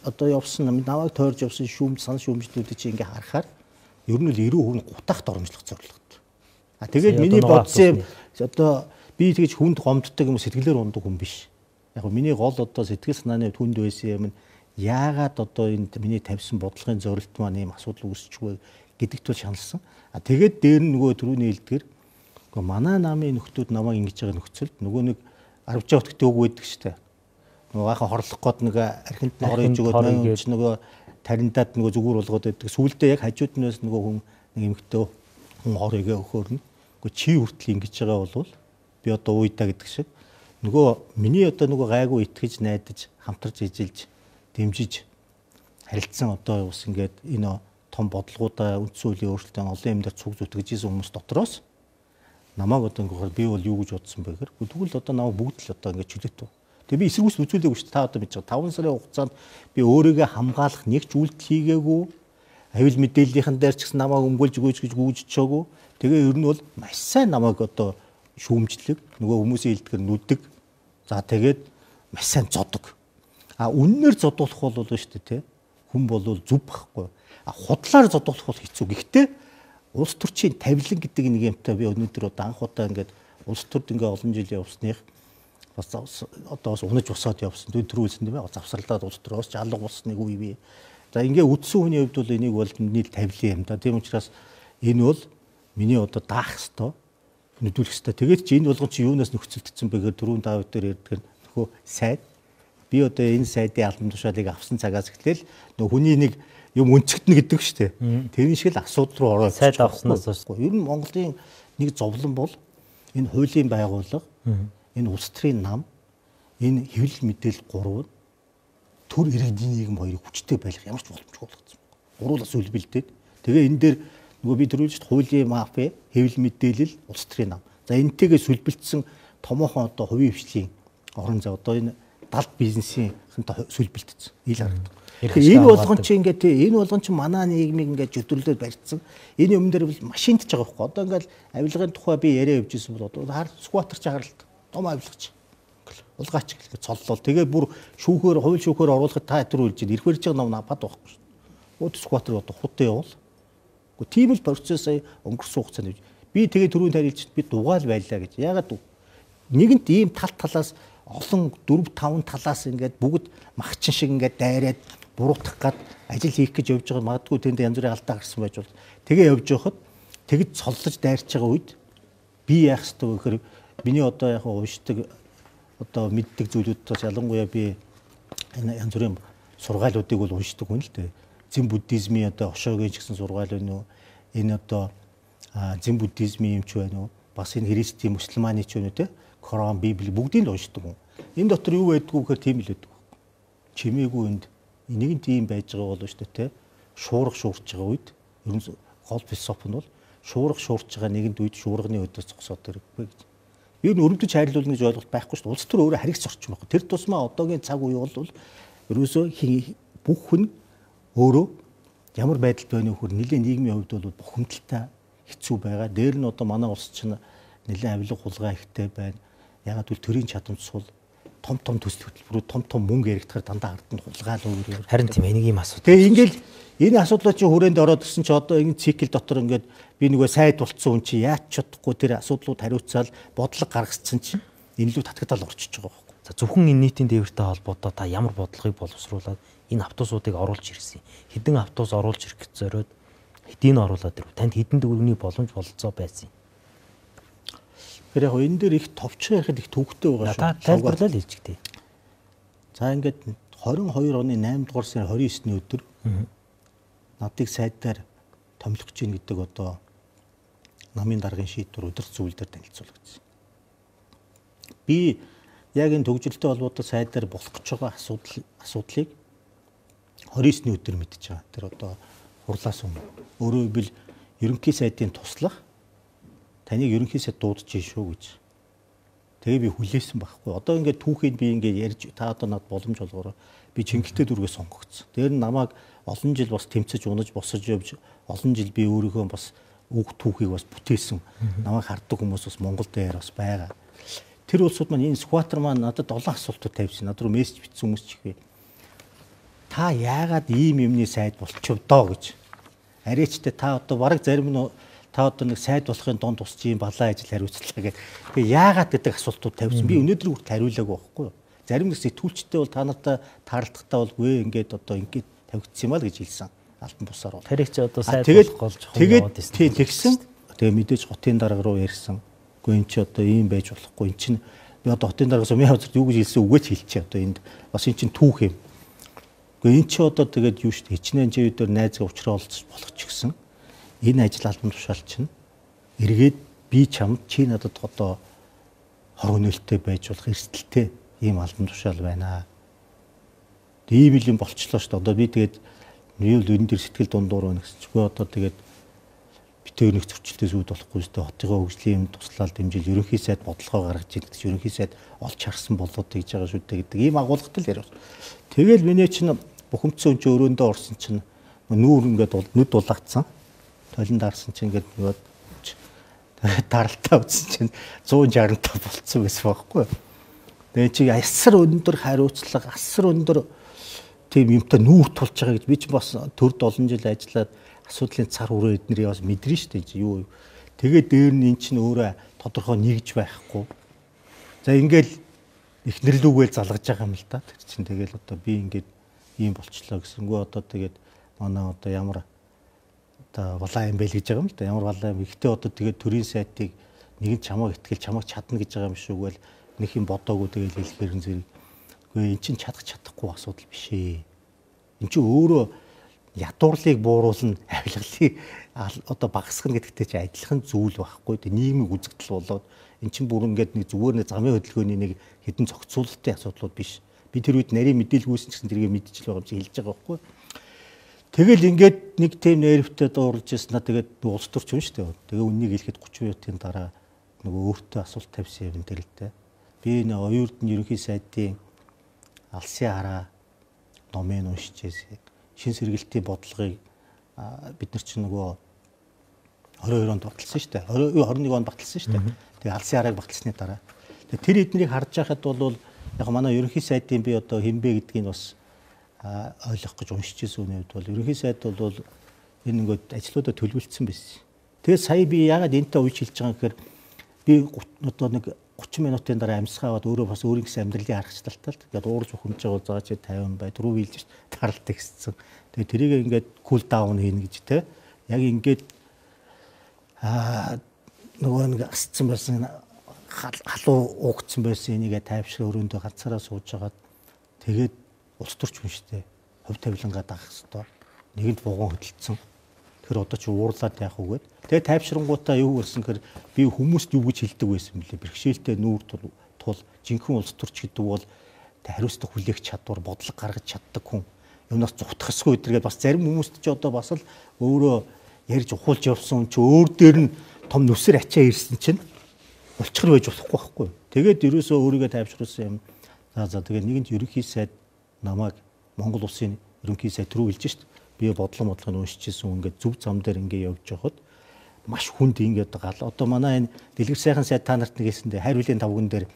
одоо явсан намайг тойрж явсан сан шүүмжлүүдийг чи ингээд харахаар ер нь л 90% гутаах доромжлох зорилготой. Тэгээд миний бодсон юм одоо би тэгж хүнд гомддог юм сэтгэлээр ундаг хүн биш. Яг миний гол одоо сэтгэл санааны хүнд байсан юм нь яагаад одоо энэ миний тавьсан бодлогын зорилт маань ийм асуудал үүсчихвэ гэдэгт бол шаналсан. Тэгээд дээр нь нөгөө түрүүний хэлдгэр манай намын нөхдүүд намайг ингэж байгаа нөхцөлд нөгөө нэг 10 жаа өтгтөө үг байдаг штэ. Нөгөө гайхан хорлох гээд нэг архинд нь орж өгөөд нөгөө таринтаад нөгөө зүгээр болгоод байдаг. Сүүлдээ яг хажууд нь нөгөө хүн нэг эмэгтэй хүн оройгээ өгөхөр нь. Гэхдээ чи хүртэл ингэж байгаа бол би одоо уйдаа гэдэг шиг нөгөө миний одоо нөгөө гайгүй итгэж найдаж хамтарч ижилж дэмжиж харилцсан одоо ус ингээд энэ том бодлогуудаа үндсэн хуулийн өөрчлөлтөнд олон юм дээр цуг зүтгэж исэн хүмүүс дотроос намайг одоо ингээд би бол юу гэж бодсон бэ гэхээр тэгвэл одоо намайг бүгд л одоо ингээд чөлөөт. Тэгээ би эсэргүүцэл үзүүлээгүй шүү дээ. Та одоо мэдж байгаа 5 сарын хугацаанд би өөрийгөө хамгаалах нэг ч үйлдэл хийгээгүй. Аюул мэдээллийнхэн дээр ч гэсэн намайг өмгөөлж өгөөч гэж гүйжчихээгүй. Тэгээ ер нь бол маш сайн намайг одоо шүүмжлэг нөгөө хүмүүсийн хэлдгэр нүдэг. За тэгээд маш сайн зодог. Үннээр зодуулах бол шүү дээ тий. Хүн бол зүв байхгүй. Худлаар зодуулах бол хэцүү. Гэхдээ улс төрчийн тавилан гэдэг нэг юмтай би өнөөдөр одоо анх удаа ингээд улс төрд ингээд олон жил явсных бас одоо бас унаж босоод явсан. Төрүүлсэн тийм ээ. Завсралдаад улс төрөөс жалга болсныг үе би. За ингээд үдсэн хүний хувьд бол энийг бол нийт тавилан юм да. Тийм учраас энэ бол миний одоо даах хэвээр нүдүүлэх хэвээр. Тэгээд чи энэ болгон чи юунаас нөхцөлдсөн бэ гэхээр түрүүн Давид дээр ярьдаг нөхөө сайд. Би одоо энэ сайдын албан тушаалыг авсан цагаас эхлээл нөх хүний нэг юм өнцгтнэ гэдэг шүү дээ. Тэр шиг л асуудал руу ороод сайд авснаас хойш. Ер нь Монголын нэг зовлон бол энэ хуулийн байгууллага, энэ улс төрийн нам, энэ хэвлэл мэдээлэл гурав нь төр иргэдийн нийгэм хоёрыг хүчтэй байлгах ямар ч боломжгүй болгоцсон. Гуруулаас үлбэлдээд. Тэгээ энэ дээр нөгөө би төрүүлж хуулийн мафи, хэвлэл мэдээлэл, улс төрийн нам. За энтэйгээ сүлбэлтсэн томоохон одоо хувийн хвшлийн орон зай одоо энэ далд бизнесийн сүлбэлтсэн. Ил харагдав. Энэ болгон чи ингээд энэ болгон чи манай нийгмийг ингээд зөвдөрлөд барьцсан. Энэ юм дээр бол машинтж байгаа байхгүй. Одоо ингээд авилгын тухай би яриа явьжсэн бол одоо скватерч агаралт том авилгач. Улгаач гэлээ цоллол. Тэгээ бүр шүүхээр хууль шүүхээр оруулахад та тэр үйлж ирэх барьж байгаа ном напад байхгүй шүү. Өөд скватер одоо хутаа явуул. Гэхдээ тийм л процесс сая өнгөрсөн хугацаанд би тэгээ түрүүн тарилж би дугаал байлаа гэж. Ягаад нэгэнт ийм тал талаас олон 4 5 талаас ингээд бүгд махчин шиг ингээд дайраад буруутгах гад ажил хийх гэж явж байгаа магадгүй тэнд янз бүрийн алдаа гарсан байж бол тэгээ явж байхад тэгж цоллож дайрч байгаа үед би яах ёстой вэ гэхээр миний одоо яг уушдаг одоо мэддэг зүйлүүдээс ялангуяа би энэ янз бүрийн сургаалуудыг бол уншдаг хүн л дээ. Зэн буддизмын одоо Ошогийн ч гэсэн сургаал байна уу? Энэ одоо зэн буддизмын юм ч байна уу? Бас энэ христийн мусульманы ч байна уу те? Коран, Библи бүгдийг л уншдаг хүн. Энэ дотор юу байдгүй гэхээр тийм л байдаг. Чимээгүй энд нэг нь тийм байж байгаа болов шүү дээ те. Шуурга шуурч байгаа үед ер нь гол философи нь бол шуурга шуурч байгаа нэгэнд үед шуурганы өдөөс зогсоод ирэхгүй гэж. Ер нь өрөвдөж хайрлуулна гэж ойлголт байхгүй шүү дээ. Улс төр өөрөө харигц орчин байхгүй. Тэр тусмаа одоогийн цаг үе бол ерөөсөө бүх хүн өөрөө ямар байдалд байна вэ гэхээр нэлээд нийгмийн хувьд бол бухимдалтай хэцүү байгаа. Дээр нь одоо манай улс чинь нэлээд авилга хулгай ихтэй байна. Ягаад гэвэл төрийн чадамж сул том төсөл хөтөлбөрүүд том мөнгө яригдахаар дандаа ард нь хулгаал өөр. Харин тийм энийг юм асуудал. Тэгээ ингээл энэ асуудлууд чи хүрээнд ороод ирсэн чи одоо энэ цикл дотор ингээд би нөгөө сайд болцсон хүн чи яаж чадахгүй тэр асуудлууд хариуцаал бодлого гаргацсан чи энэ лүү татгатал орчиж байгаа байхгүй. За зөвхөн энэ нийтийн дээвэртэй холбоотой та ямар бодлогыг боловсруулад энэ автобусуудыг оруулж ирсэн. Хэдэн автобус оруулж ирэх гэж зориод хэдийг нь оруулаад ирв. Танд хэдэн төгрөгийн боломж бололцоо байсан юм. Тэр яг энэ дээр их товчхон яхад их төвхтэй байгаа шүү. Та тайлбарлал хэлчихтэй. За ингээд 22 оны 8 дугаар сарын 29-ний өдөр надыг сайдаар томилох гэж гэдэг одоо намын даргын шийдвэр өдөр зүйлдер танилцуулагдсан. Би яг энэ төгжөлтэй холбоотой сайдаар болох гэж байгаа асуудлыг 29-ний өдөр мэдчихэж байгаа. Тэр одоо хурлаас өмнө. Өөрөөр хэлбэл ерөнхий сайдын туслах таныг ерөнхий сайд дуудаж шүү гэж. Тэгээ би хүлээсэн байхгүй. Одоо ингээд түүхийг би ингээд ярьж та одоо надад боломж олгороо би Чингэлтэй дүргээ сонгогдсон. Тэр нь намайг олон жил бас тэмцэж унаж босож явж олон жил би өөрийнхөө бас үг түүхийг бас бүтээсэн. Намайг харддаг хүмүүс бас Монгол дээр бас байгаа. Тэр улсууд маань энэ скватер маань надад 7 асуултууд тавьсан. Над руу мессеж бичсэн хүмүүс ч ихвэ. Та яагаад ийм юмны сайд болчихв доо гэж. Арайчтай та одоо бараг зарим нь та одоо нэг сайд болохын донд тусч ийм балан ажил хариуцлаа гэх. Тэгээ яагаад гэдэг асуултууд тавьсан. Би өнөөдөр хүртэл хариулаагүй байхгүй юу. зарим нэг сэтгүүлчтэй бол та нартай таарлахдаа бол үе ингээд одоо ингээд тавигдсан юм аа гэж хэлсэн. Алтан бусаар бол. Тэр их ч одоо сайд болох гол чухал яваад ирсэн. Тэгээд тэгсэн. Тэгээ мэдээж хотын дарга руу ярьсан. Гэхдээ эн чи одоо ийм байж болохгүй. Эн чин би одоо хотын даргаас миний хавцад юу гэж хэлсэн үгэж хэлчихэ одоо энд бас эн чин түүх юм. Гэхдээ эн чи одоо тэгээд юу шүү дээ. Хичнээн чи өдөр найзгаа уулзах болох ч гэсэн энэ ажил албан тушаал чинь эргээд би чамд чи надад одоо хор өнөөлтөй байж болох эрсдэлтэй ийм албан тушаал байна. Ийм л юм болчлоо шүү дээ. Одоо би тэгээд юу л энэ дэр сэтгэл дундуур байна гэсэн чигүй одоо тэгээд битээр нэг зөрчилтөөс үүд болохгүй шүү дээ. Хотын хөгжлийн юм туслаад дэмжил ерөнхий сайд бодлогоо гаргаж ирэх гэж ерөнхий сайд олж харсан болоод гэж байгаа шүү дээ гэдэг ийм агуулгатай л яриа. Тэгэл миний чинь бухимдсан хүн чинь өрөөндөө орсон чинь нүүр ингээд нүд дулаагдсан. Толин даарсан чинь ингээд нөгөө даралтаа үзсэн чинь 165 болцсон байсан байхгүй. Тэгээ чи асар өндөр хариуцлага, асар өндөр тийм юмтай нүүр тулж байгаа гэж би ч бас төрд олон жил ажиллаад асуудлын цар хүрээ эднэрийг бас мэдэрнэ шүү дээ юу. Тэгээд дээр нь эн чинь өөрөө тодорхой нэгж байхгүй. За ингээл эхнэрлүүгээл залгаж байгаа юм л да. Тэр чинь тэгэл одоо би ингээд ийм болчлоо гэсэнгүү одоо тэгээд манай одоо ямар одоо балаа юм бэ л гэж байгаа юм л да. Ямар балаа юм. Ихтэй одоо тэгээд төрийн сайтыг нэгэн чамаа итгэл чамаг чадна гэж байгаа юм шиг үгүй л нэг юм бодоогүй тэгээд хэлэхээр зэрэг. Гэхдээ эн чинь чадахгүй асуудал биш ээ. Эн чинь өөрөө ядуурлыг бууруулна, авилгалыг одоо багасгах гэдэгтэй чи адилхан зүйл байхгүй. Тэг нийгмийн үзэгдэл болоод эн чинь бүр ингээд нэг зүгээр нэг замын хөдөлгөөний нэг хэдэн зохицуулалтын асуудлууд биш. Би тэр үед нарийн мэдээлгүйсэн гэсэн тэргээ мэдчихэл байгаа юм чи хэлж байгаа байхгүй. Тэгэл ингээд нэг тийм нэрвтэй дуурлж яснаа тэгээд улс төрч юм шүү дээ. Тэгээ үннийг хэлэхэд 30 минутын дараа нөгөө өөртөө асуулт тавьсан юм дээр л дээ. Би нэг оюутны ерөнхий сайдын алсын хараа номыг уншижээс шин сэргэлтийн бодлогыг бид нар чинь нөгөө 22 онд баталсан шүү дээ. 21 онд баталсан шүү дээ. Тэгээ алсын харааг баталсны дараа. Тэгээ тэр эднийг харж байхад бол яг манай ерөнхий сайдын би одоо хэмбэ гэдгийг бас ойлгох гэж уншиж ирсэн үнэвд бол ерөнхий сайд бол энэ ингээд ажлуудаа төлөвлөсөн байсан. Тэгээ сая би яагаад энэтэй ууж хэлж байгаа гэхээр би одоо нэг 30 минутын дараа амьсгаа аваад өөрөө бас өөрийн гэсэн амьдралын аргачлалтай л тэгээд уурж ухамж байгаа заа чи 50 бай түрүү хэлж таралт ихсэн. Тэгээд тэрийг ингээд кул даун хийнэ гэж те. Яг ингээд нөгөө нэг асцсан байсан халуу уугдсан байсан энийгээ тайвшраа өрөөндөө ганцаараа сууж хагаад тэгээд улс төрч хүн штэ. Хувь тавилангаа даах хэвээр. Нэгэнд вогон хөдөлсөн. Тэр одоо чи уурлаад яах үгээд. Тэгээ тайвшрангуудаа юу гэсэн гэхээр би хүмүүст юу гэж хэлдэг байсан бэлээ. Бэрхшээлтэй нүүр тул жинхэнэ улс төрч гэдэг бол хариуцлага хүлээх чадвар, бодлого гаргаж чаддаг хүн. Юунаас зүхтах эсгүй гэдэргээд бас зарим хүмүүст чи одоо бас л өөрөө ярьж ухуулж явсан чи өөр дээр нь том нүсэр ачаа ирсэн чинь улчгар байж болохгүй байхгүй. Тэгээд ерөөсөө өөрийгөө тайвшруулсан юм. За тэгээд нэгэнт ерөнхий сайд намайг Монгол улсын ерөнхий сайд руу хэлж шít. Би бодлого уншижсэн ингээд зөв зам дээр ингээд явж байхад маш хүнд ингээд гал. Одоо манай энэ дэлгэр сайхан сайд та нарт нэгэсэндээ хайр хүлийн тавган дээр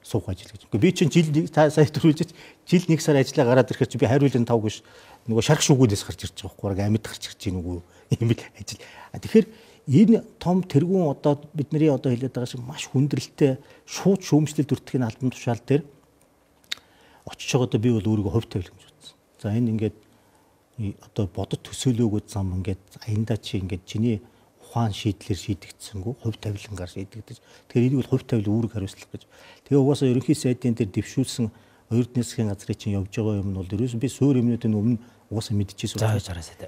суух ажил гэж. Би чинь жил сая төрүүлж жил 1 сар ажиллаа гараад ирэхээр чи би хайр хүлийн тавг биш нөгөө шарх шүгүүдээс гарч ирж байгаа байхгүй. Амьд гарч ирж гин үгүй юм л ажил. Тэгэхээр энэ том тэргүүн одоо бидний одоо хэлээд байгаа шиг маш хүндрэлтэй шууд шүүмжлэлд өртгөх албан тушаал дээр очиж байгаадаа би бол өөрийгөө хувь тавилан гэж бодсон. За энэ ингээд одоо бодод төсөөлөөгүй зам ингээд аяндаа чи ингээд чиний ухаан шийдлэр шийдэгдсэнгүү хувь тавилангаар шийдэгдэж. Тэгэхээр энийг бол хувь тавилан үүрэг хариуцлага гэж. Тэгээ угаасаа ерөнхий сайдын дээр дэвшүүлсэн оюутны засгийн газрын чинь явж байгаа юм нь бол ерөөсөн би суур юмнуудын өмнө угаасаа мэдчихсэн.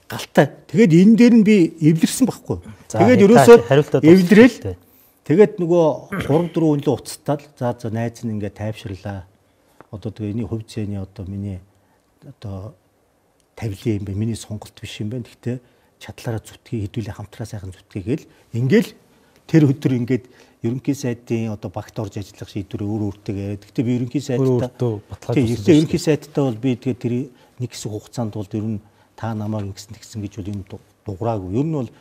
Галтай. Тэгээд энэ дээр нь би эвлэрсэн байхгүй. Тэгээд ерөөсөө эвлэрэл. Тэгээд нөгөө 3-4 үнэлээ уцтаад за найз нь ингээд тайвширлаа. Одоо тэгээ энийг хувь зээний одоо миний одоо тавилын юм бэ. Миний сонголт биш юм байна. Гэхдээ чадлаараа зүтгэе хэдүүлээ хамтраа сайхан зүтгэе гэл ингээл тэр өдөр ингээд ерөнхий сайдын одоо багт орж ажиллах шийдвэр өөртөө яриад. Гэхдээ би ерөнхий сайдтай ерөнхий сайдтай бол би тэгээ тэр нэг хэсэг хугацаанд бол ер нь та намайг ингэсэн гэж бол юм дуграагүй. Ер нь бол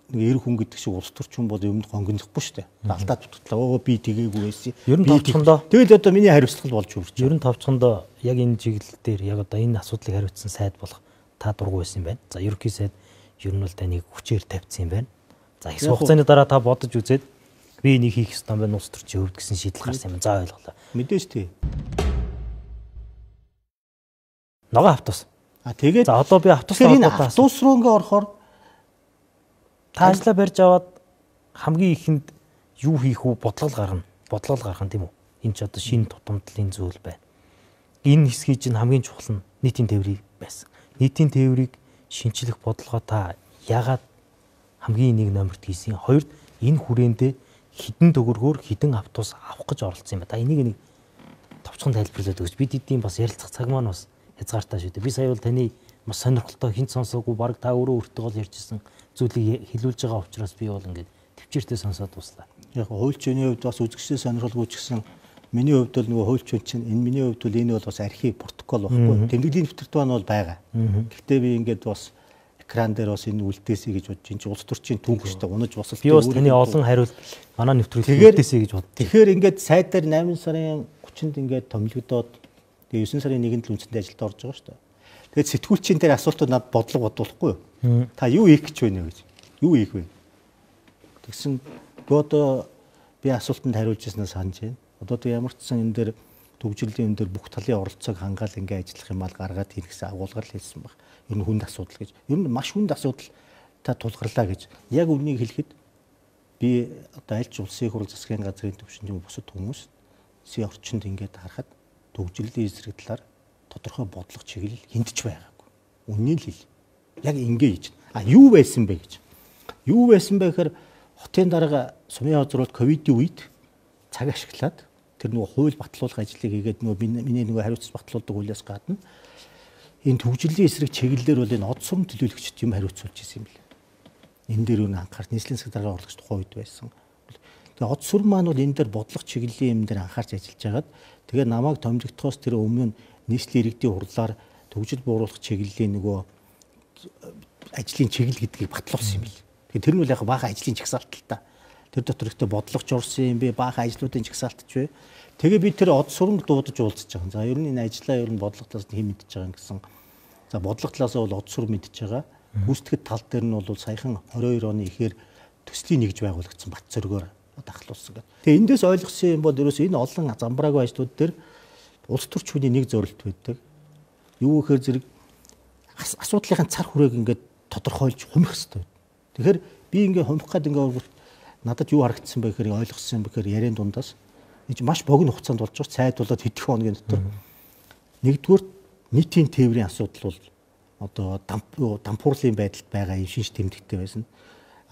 нэг эр хүн гэдэг шиг улс төрчин бол юмд гонгондохгүй шүү дээ. Алдаад дутглаа. Би тэгээгүй байсан. Ер нь товчхондоо тэгэл одоо миний хариуцлага болж өгч. Ер нь товчхондоо яг энэ чиглэл дээр яг одоо энэ асуудлыг хариуцсан сайд болох та дургу байсан юм байна. За ерөнхий сайд ер нь бол таныг хүчээр тавьсан юм байна. За их хугацааны дараа та бодож үзээд би энийг хийх ёстой юм байна улс төрчийн хөвд гэсэн шийдэл гарсан юм. За ойлголоо. Мэдээж тий. Ногоо автобус. Тэгээд За одоо би автобустай тэгэхээр энэ холбоотой автобус руу ингээ орохоор та ажиллаа барьж аваад хамгийн ихэнд юу хийх үү бодлого гаргана тийм үү? Энэ ч одоо шинэ тутамдлын зүйл байна. Энэ хэсгийг чинь хамгийн чухал нь нийтийн тээврийг байсан. Нийтийн тээврийг шинчлэх бодлогоо та яагаад хамгийн нэг номерт хийсэн? Хоёрд энэ хүрээндээ хідэн төгрөгөөр хідэн автобус авах гэж оролцсон юм ба. Та энийг нэг товчхон тайлбарлаад өгч бид эдийн бас ярилцах цаг маань бас хязгаартай шүү дээ. Би сая бол таны маш сонирхолтой хинт сонсоогүй баг та өөрөө өөртөө ярьжсэн зүйлийг хэлүүлж байгаа учраас би бол ингээд төвчээртэй сонсоод дуслаа. Яг хуульчны хувьд бас үзэгчдээ сонирхолгүй ч гэсэн миний хувьд бол нөгөө хуульчуун чинь энэ миний хувьд бол энэ бол бас архив протокол багхгүй. Тэмдэглэлийн дэвтэрт маань бол байгаа. Гэхдээ би ингээд бас экран дээр бас энэ үлдээсэй гэж бодож энэ улс төрчийн түүх шүү дээ. Унаж босол. Би бас таны олон хариулт манай нэвтрүүлгээр үлдээсэй гэж бод. Тэгэхээр ингээд сайд дээр 8 сарын 30-нд ингээд томилогдоод тэгээ 9 сарын 1-нд л үндсэндээ ажилд орж байгаа шүү дээ. Тэгээд сэтгүүлчийн дээр асуултууд надад бодлого бодуулахгүй юу? Та юу хийх гэж байна гэж. Юу хийх вэ? Тэгсэн одоо би асуултанд хариулж яснаа санаж байна. Одоо тэг ямар ч сан энэ дээр төвжирлийн энэ дээр бүх талын оролцоог хангаал ингээ ажиллах юм бол гаргаад хийх гэсэн агуулгаар л хэлсэн баг. Ер нь хүнд асуудал гэж. Ер нь маш хүнд асуудал та тулгарлаа гэж. Яг үнийг хэлэхэд би одоо аль ч улсын хурал засгийн газрын төвшөнд юм бусад хүмүүс сая орчинд ингээд харахад төвжирлийн эсрэг талаар тодорхой бодлого чиглэл хинтж байгаагүй. Үннийг л хэл. Яг ингээ хийж. Юу байсан бэ гэж. Юу байсан бэ гэхээр хотын дарга сумын хозрууд ковидын үед цаг ашиглаад тэр нөгөө хууль батлуулах ажлыг хийгээд нөгөө миний нөгөө хариуцлага батлуулдаг хуулиас гадна энэ төвжирлийн эсрэг чиглэлээр бол энэ од сурам төлөөлөгчд юм хариуцуулж ирсэн юм лээ. Энэ дээр үнэ анхаарч нийслэлийн засаг даргын урлагч тухайн үед байсан. Тэгээ од сурам маань бол энэ дээр бодлого чиглэлийн юм дээр анхаарч ажиллаж байгаад тэгээ намайг томилогдохоос тэр өмнө нийслэлийн иргэдийн хурлаар төвжил бууруулах чиглэлийн нөгөө ажлын чиглэл гэдгийг батлуулсан юм лээ. Тэгээ тэр нь бол яг баахан ажлын чагсаалталтай. Тэр дотор ихтэй бодлогоч орсон юм бэ, баахан ажлуудын чагсаалтч вэ. Тэгээ би тэр од сурам дуудаж уулзаж байгаа. За ер нь энэ ажлаа ер нь бодлого талаас нь хэн мэдж байгаа юм гэсэн. За бодлого талаас бол од сурам мэдж байгаа. Гүйцэтгэх тал дээр нь бол саяхан 22 оны ихээр төслийн нэгж байгуулагдсан бат зөргөөр дахлуулсан гэдэг. Тэгээ эндээс ойлгосон юм бол ерөөс энэ олон замбраагүй ажлууд дээр улс төрч хүний нэг зорилт байдаг. Юу гэхээр зэрэг асуудлынхаа цар хүрээг ингээд тодорхойлж хумих хэрэгтэй. Тэгэхээр би ингээд хумих гээд ингээд надад юу харагдсан бэ гэхээр ойлгосон юм бэхээр яриан дундаас энэ маш богино хугацаанд болж байгаа цайд болоод хэдхэн хоногийн дотор нэгдүгээр нийтийн тээврийн асуудал бол одоо дампуурлын байдалд байгаа юм шинж тэмдэгтэй байсан.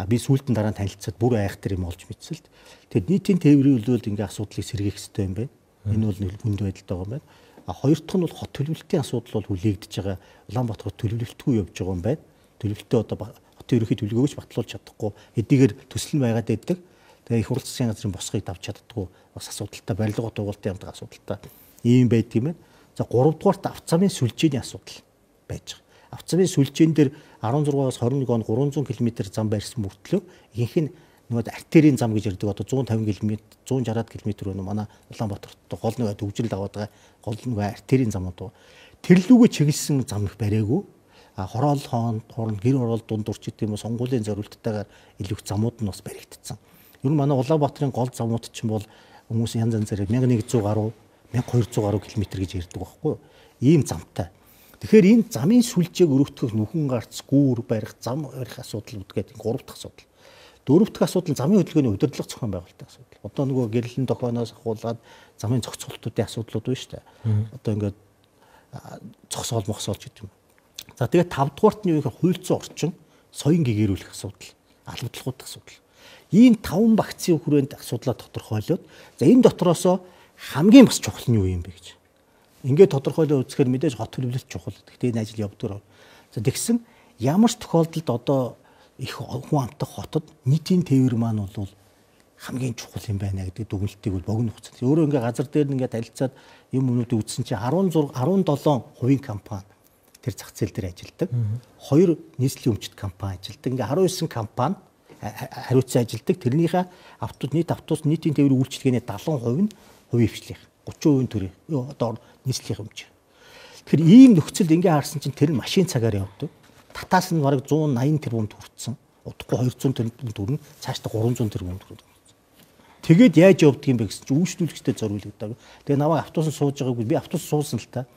Би сүүлдэн дараа нь танилцаад бүр айхтар юм олж мэдсэлт. Тэгээд нийтийн тээврийн үйлдэл ингээд асуудлыг сэргээх хэрэгтэй юм байна. Энэ бол хүнд байдалтай байгаа юм байна. Хоёр дахь нь бол хот төлөвлөлтийн асуудал бол хүлээгдэж байгаа. Улаанбаатар хот төлөвлөлтгүй явж байгаа юм байна. Төлөвлөлтөө одоо хотын ерөнхий төлөвлөгөөч батлуулж чадахгүй хэдийгээр төсөл нь байгаад байдаг. Тэгээ их хурл засгийн газрын босгыг давж чаддаггүй бас асуудалтай барилга дугуулалтын хамтар асуудалтай ийм байдаг юм байна. За 3 дугаарт авцамын сүлжээний асуудал байж байгаа. Авцамын сүлжээн дээр 16-аас 21 он 300 км зам барьсан мөртлөө ихэнх нь нөгөө артерийн зам гэж ярьдаг одоо 150 км 160 км өнө манай Улаанбаатарт гол нөгөө төвжил даваад байгаа гол нөгөө артерийн замууд. Тэрлүүгээ чиглэсэн зам их бариагүй. Хороол хооронд гэр оролт дунд урч гэдэг юм уу сонгуулийн зорилттойгоор илүү их замууд нь бас баригдсан. Ер нь манай Улаанбаатарын гол замууд чинь бол хүмүүс янз янзаар 1100 гаруй 1200 гаруй км гэж ярьдаг байхгүй юу? Ийм замтай. Тэгэхээр энэ замын сүлжээг өргөтгөх нүхэн гарц гүүр барих зам барих асуудал үүдгээд 3 дахь асуудал. 4 дахь асуудал замын хөдөлгөөний удирдлага зохион байгуулалтын асуудал. Одоо нөгөө гэрлэн тохионоос ахуулаад замын зохицуултуудын асуудлууд байна шүү дээ. Одоо ингээд зогсоол мохсоолж гэдэг юм. За тэгээд 5 дугаарт нь юу гэхээр хуульцсан орчин, соён гэгэрүүлэх асуудал, албадлахуудын асуудал. Ийм 5 багцын хүрээнд асуудлаа тодорхойлоод за энэ дотроосоо хамгийн бас чухал нь юу юм бэ гэж. Ингээд тодорхойлоо үзэхээр мэдээж хот төлөвлөлт чухал. Гэхдээ энэ ажил явдаг. За тэгсэн ямар ч тохиолдолд одоо их хүн амтах хотод нийтийн тээвэр маань бол хамгийн чухал юм байна гэдэг дүгнэлтийг бол богино хугацаанд. Өөрөө ингээд газар дээр нь ингээд танилцаад юм өнүүдийг үзсэн чинь 17% компани тэр зах зээл дээр ажилладаг. 2 нийслэлийн өмчт компани ажилладаг. Ингээ 19 компани хариуцсан ажилладаг. Тэрнийхээ нийт автобус нийтийн тээврийн үйлчилгээний 70% нь хувийн хвшлийнх. 30% төрийн одоо нийслэлийн өмч. Тэгэхээр ийм нөхцөлд ингээ харсан чинь тэр машин цагаар явдаг. Татаас нь бараг 180 тэрбум төрсөн. Удахгүй 200 тэрбум төрнө. Цаашдаа 300 тэрбум төрнө. Тэгээд яаж явдаг юм бэ гэсэн чинь үйлчлүүлэгчтэй зориулдаг. Тэгээ намайг автобусанд сууж байгаагүй би автобус суусан л та.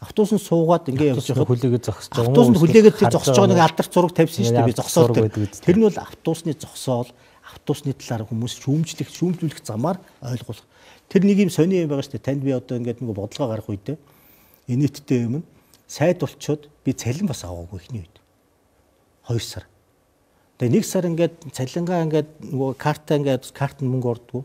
Автобусанд суугаад ингээ явж Автобусны хүлээгээд зогсож байгаа. Автобусанд хүлээгээд тэр зогсож байгаа нэг алдарт зураг тавьсан шүү дээ. Би зогсоол тэр. Тэр нь бол автобусны зогсоол, автобусны талаар хүмүүс шүүмжлүүлэх замаар ойлгох. Тэр нэг юм сони юм байгаа шүү дээ. Танд би одоо ингээд нэг бодлого гарах үедээ инээдтэй юм сайд болчоод би цалин бас аваагүй ихний үед. 2 сар. Тэгээ 1 сар ингээд цалингаа ингээд нөгөө карт нь мөнгө ордгоо.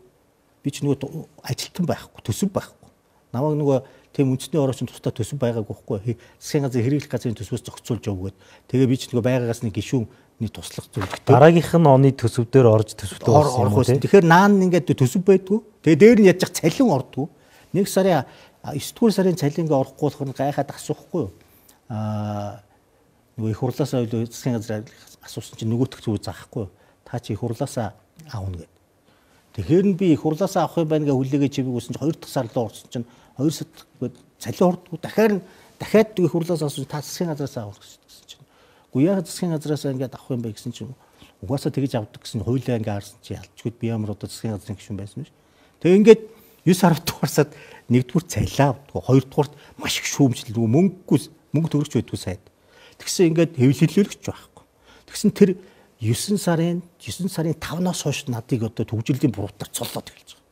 Би ч нөгөө ажилтан байхгүй, төсөв байхгүй. Намайг нөгөө тийм үндэсний орчин тусдаа төсөв байгаагүй байхгүй. Засгийн газрын хэрэглэх газрын төсвөөс зохицуулж явуугээд. Тэгээ би ч нөгөө байгаагаас нэг гишүүний туслах зүйлэгтэй. Дараагийнх нь оны төсөв дээр орж төсөвтэй орсон юм уу? Тэгэхээр наан ингээд төсөв байдгүй. Тэгээ дээр нь яаж цалин ордгоо. 1 сарын 9 дугаар сарын цалин ингээ орохгүй болох нь гайхаад асуухгүй юу? Нөгөө их хурлаасаа засгийн газар асуусан чинь нөгөөтг зүг заахгүй юу? Та чи их хурлаасаа аавна гэд. Тэгэхээр нь би их хурлаасаа авах юм байна гэж хүлээгээ чимээг үсэн чинь 2 дахь сар руу орсон чинь 2 сар цалин ордгоо. Дахиад их хурлаасаа асуусан та засгийн газраас авах гэсэн чинь. Үгүй яагаад засгийн газраас ингээд авах юм бэ гэсэн чинь угаасаа тэгэж авдаг гэсэн хуулиа ингээ харсан чи ялчгүйд би ямар одоо засгийн газрын гишүүн байсан биш. Тэгээ ингээд 9 сар дугаарсаад 1-р цалиа авдгаа 2-р маш их шүүмжлэл мөнгө төгрөгч байдгүй сайд. Тэгсэн ингээд хэвлэлүүлэгч байхгүй. Тэгсэн тэр 9 сарын 5-наас хойш надыг одоо төгжрлийн буруутаар цоллоод эхэлж байгаа.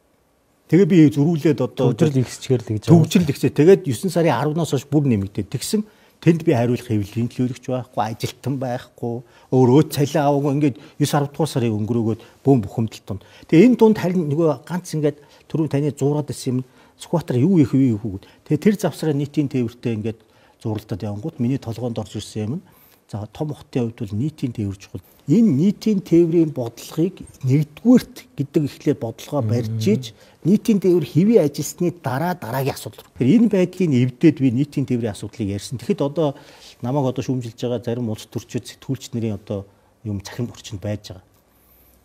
Тэгээ би зөрүүлээд одоо төгжрөл ихсчээр л гэж төгжрөл ихсээ. Тэгээд 9 сарын 10-наас хойш бүр нэмэгдээд тэгсэн тэнд би хариулах хэвлэлүүлэгч байхгүй, ажилтан байхгүй, өөрөө цалиа аваагүй ингээд 9-10 дугаар сарын өнгөрөөгөөд бөөн бухимдал тунд. Тэгээ энэ дунд харин нөгөө ганц ингээд түрүү таны зуураад байсан юм скватер юу их вэ гэвэл тэгээ тэр завсраа нийтийн тээвэртэй ингээд зурлалтад явангууд миний толгоонд орж ирсэн юм. За том хотын хувьд бол нийтийн тээвэр чухал. Энэ нийтийн тээврийн бодлогыг нэгдүгüүрт гэдэг ихлээр бодлогоо барьж иж нийтийн тээвэр хэвээ ажилласны дараагийн асуудал. Тэгэхээр энэ байдлыг эвдээд би нийтийн тээврийн асуудлыг ярьсан. Тэгэхэд одоо намайг одоо шүүмжилж байгаа зарим улс төрчид сэтгүүлч нарын одоо юм цахим орчинд байж байгаа.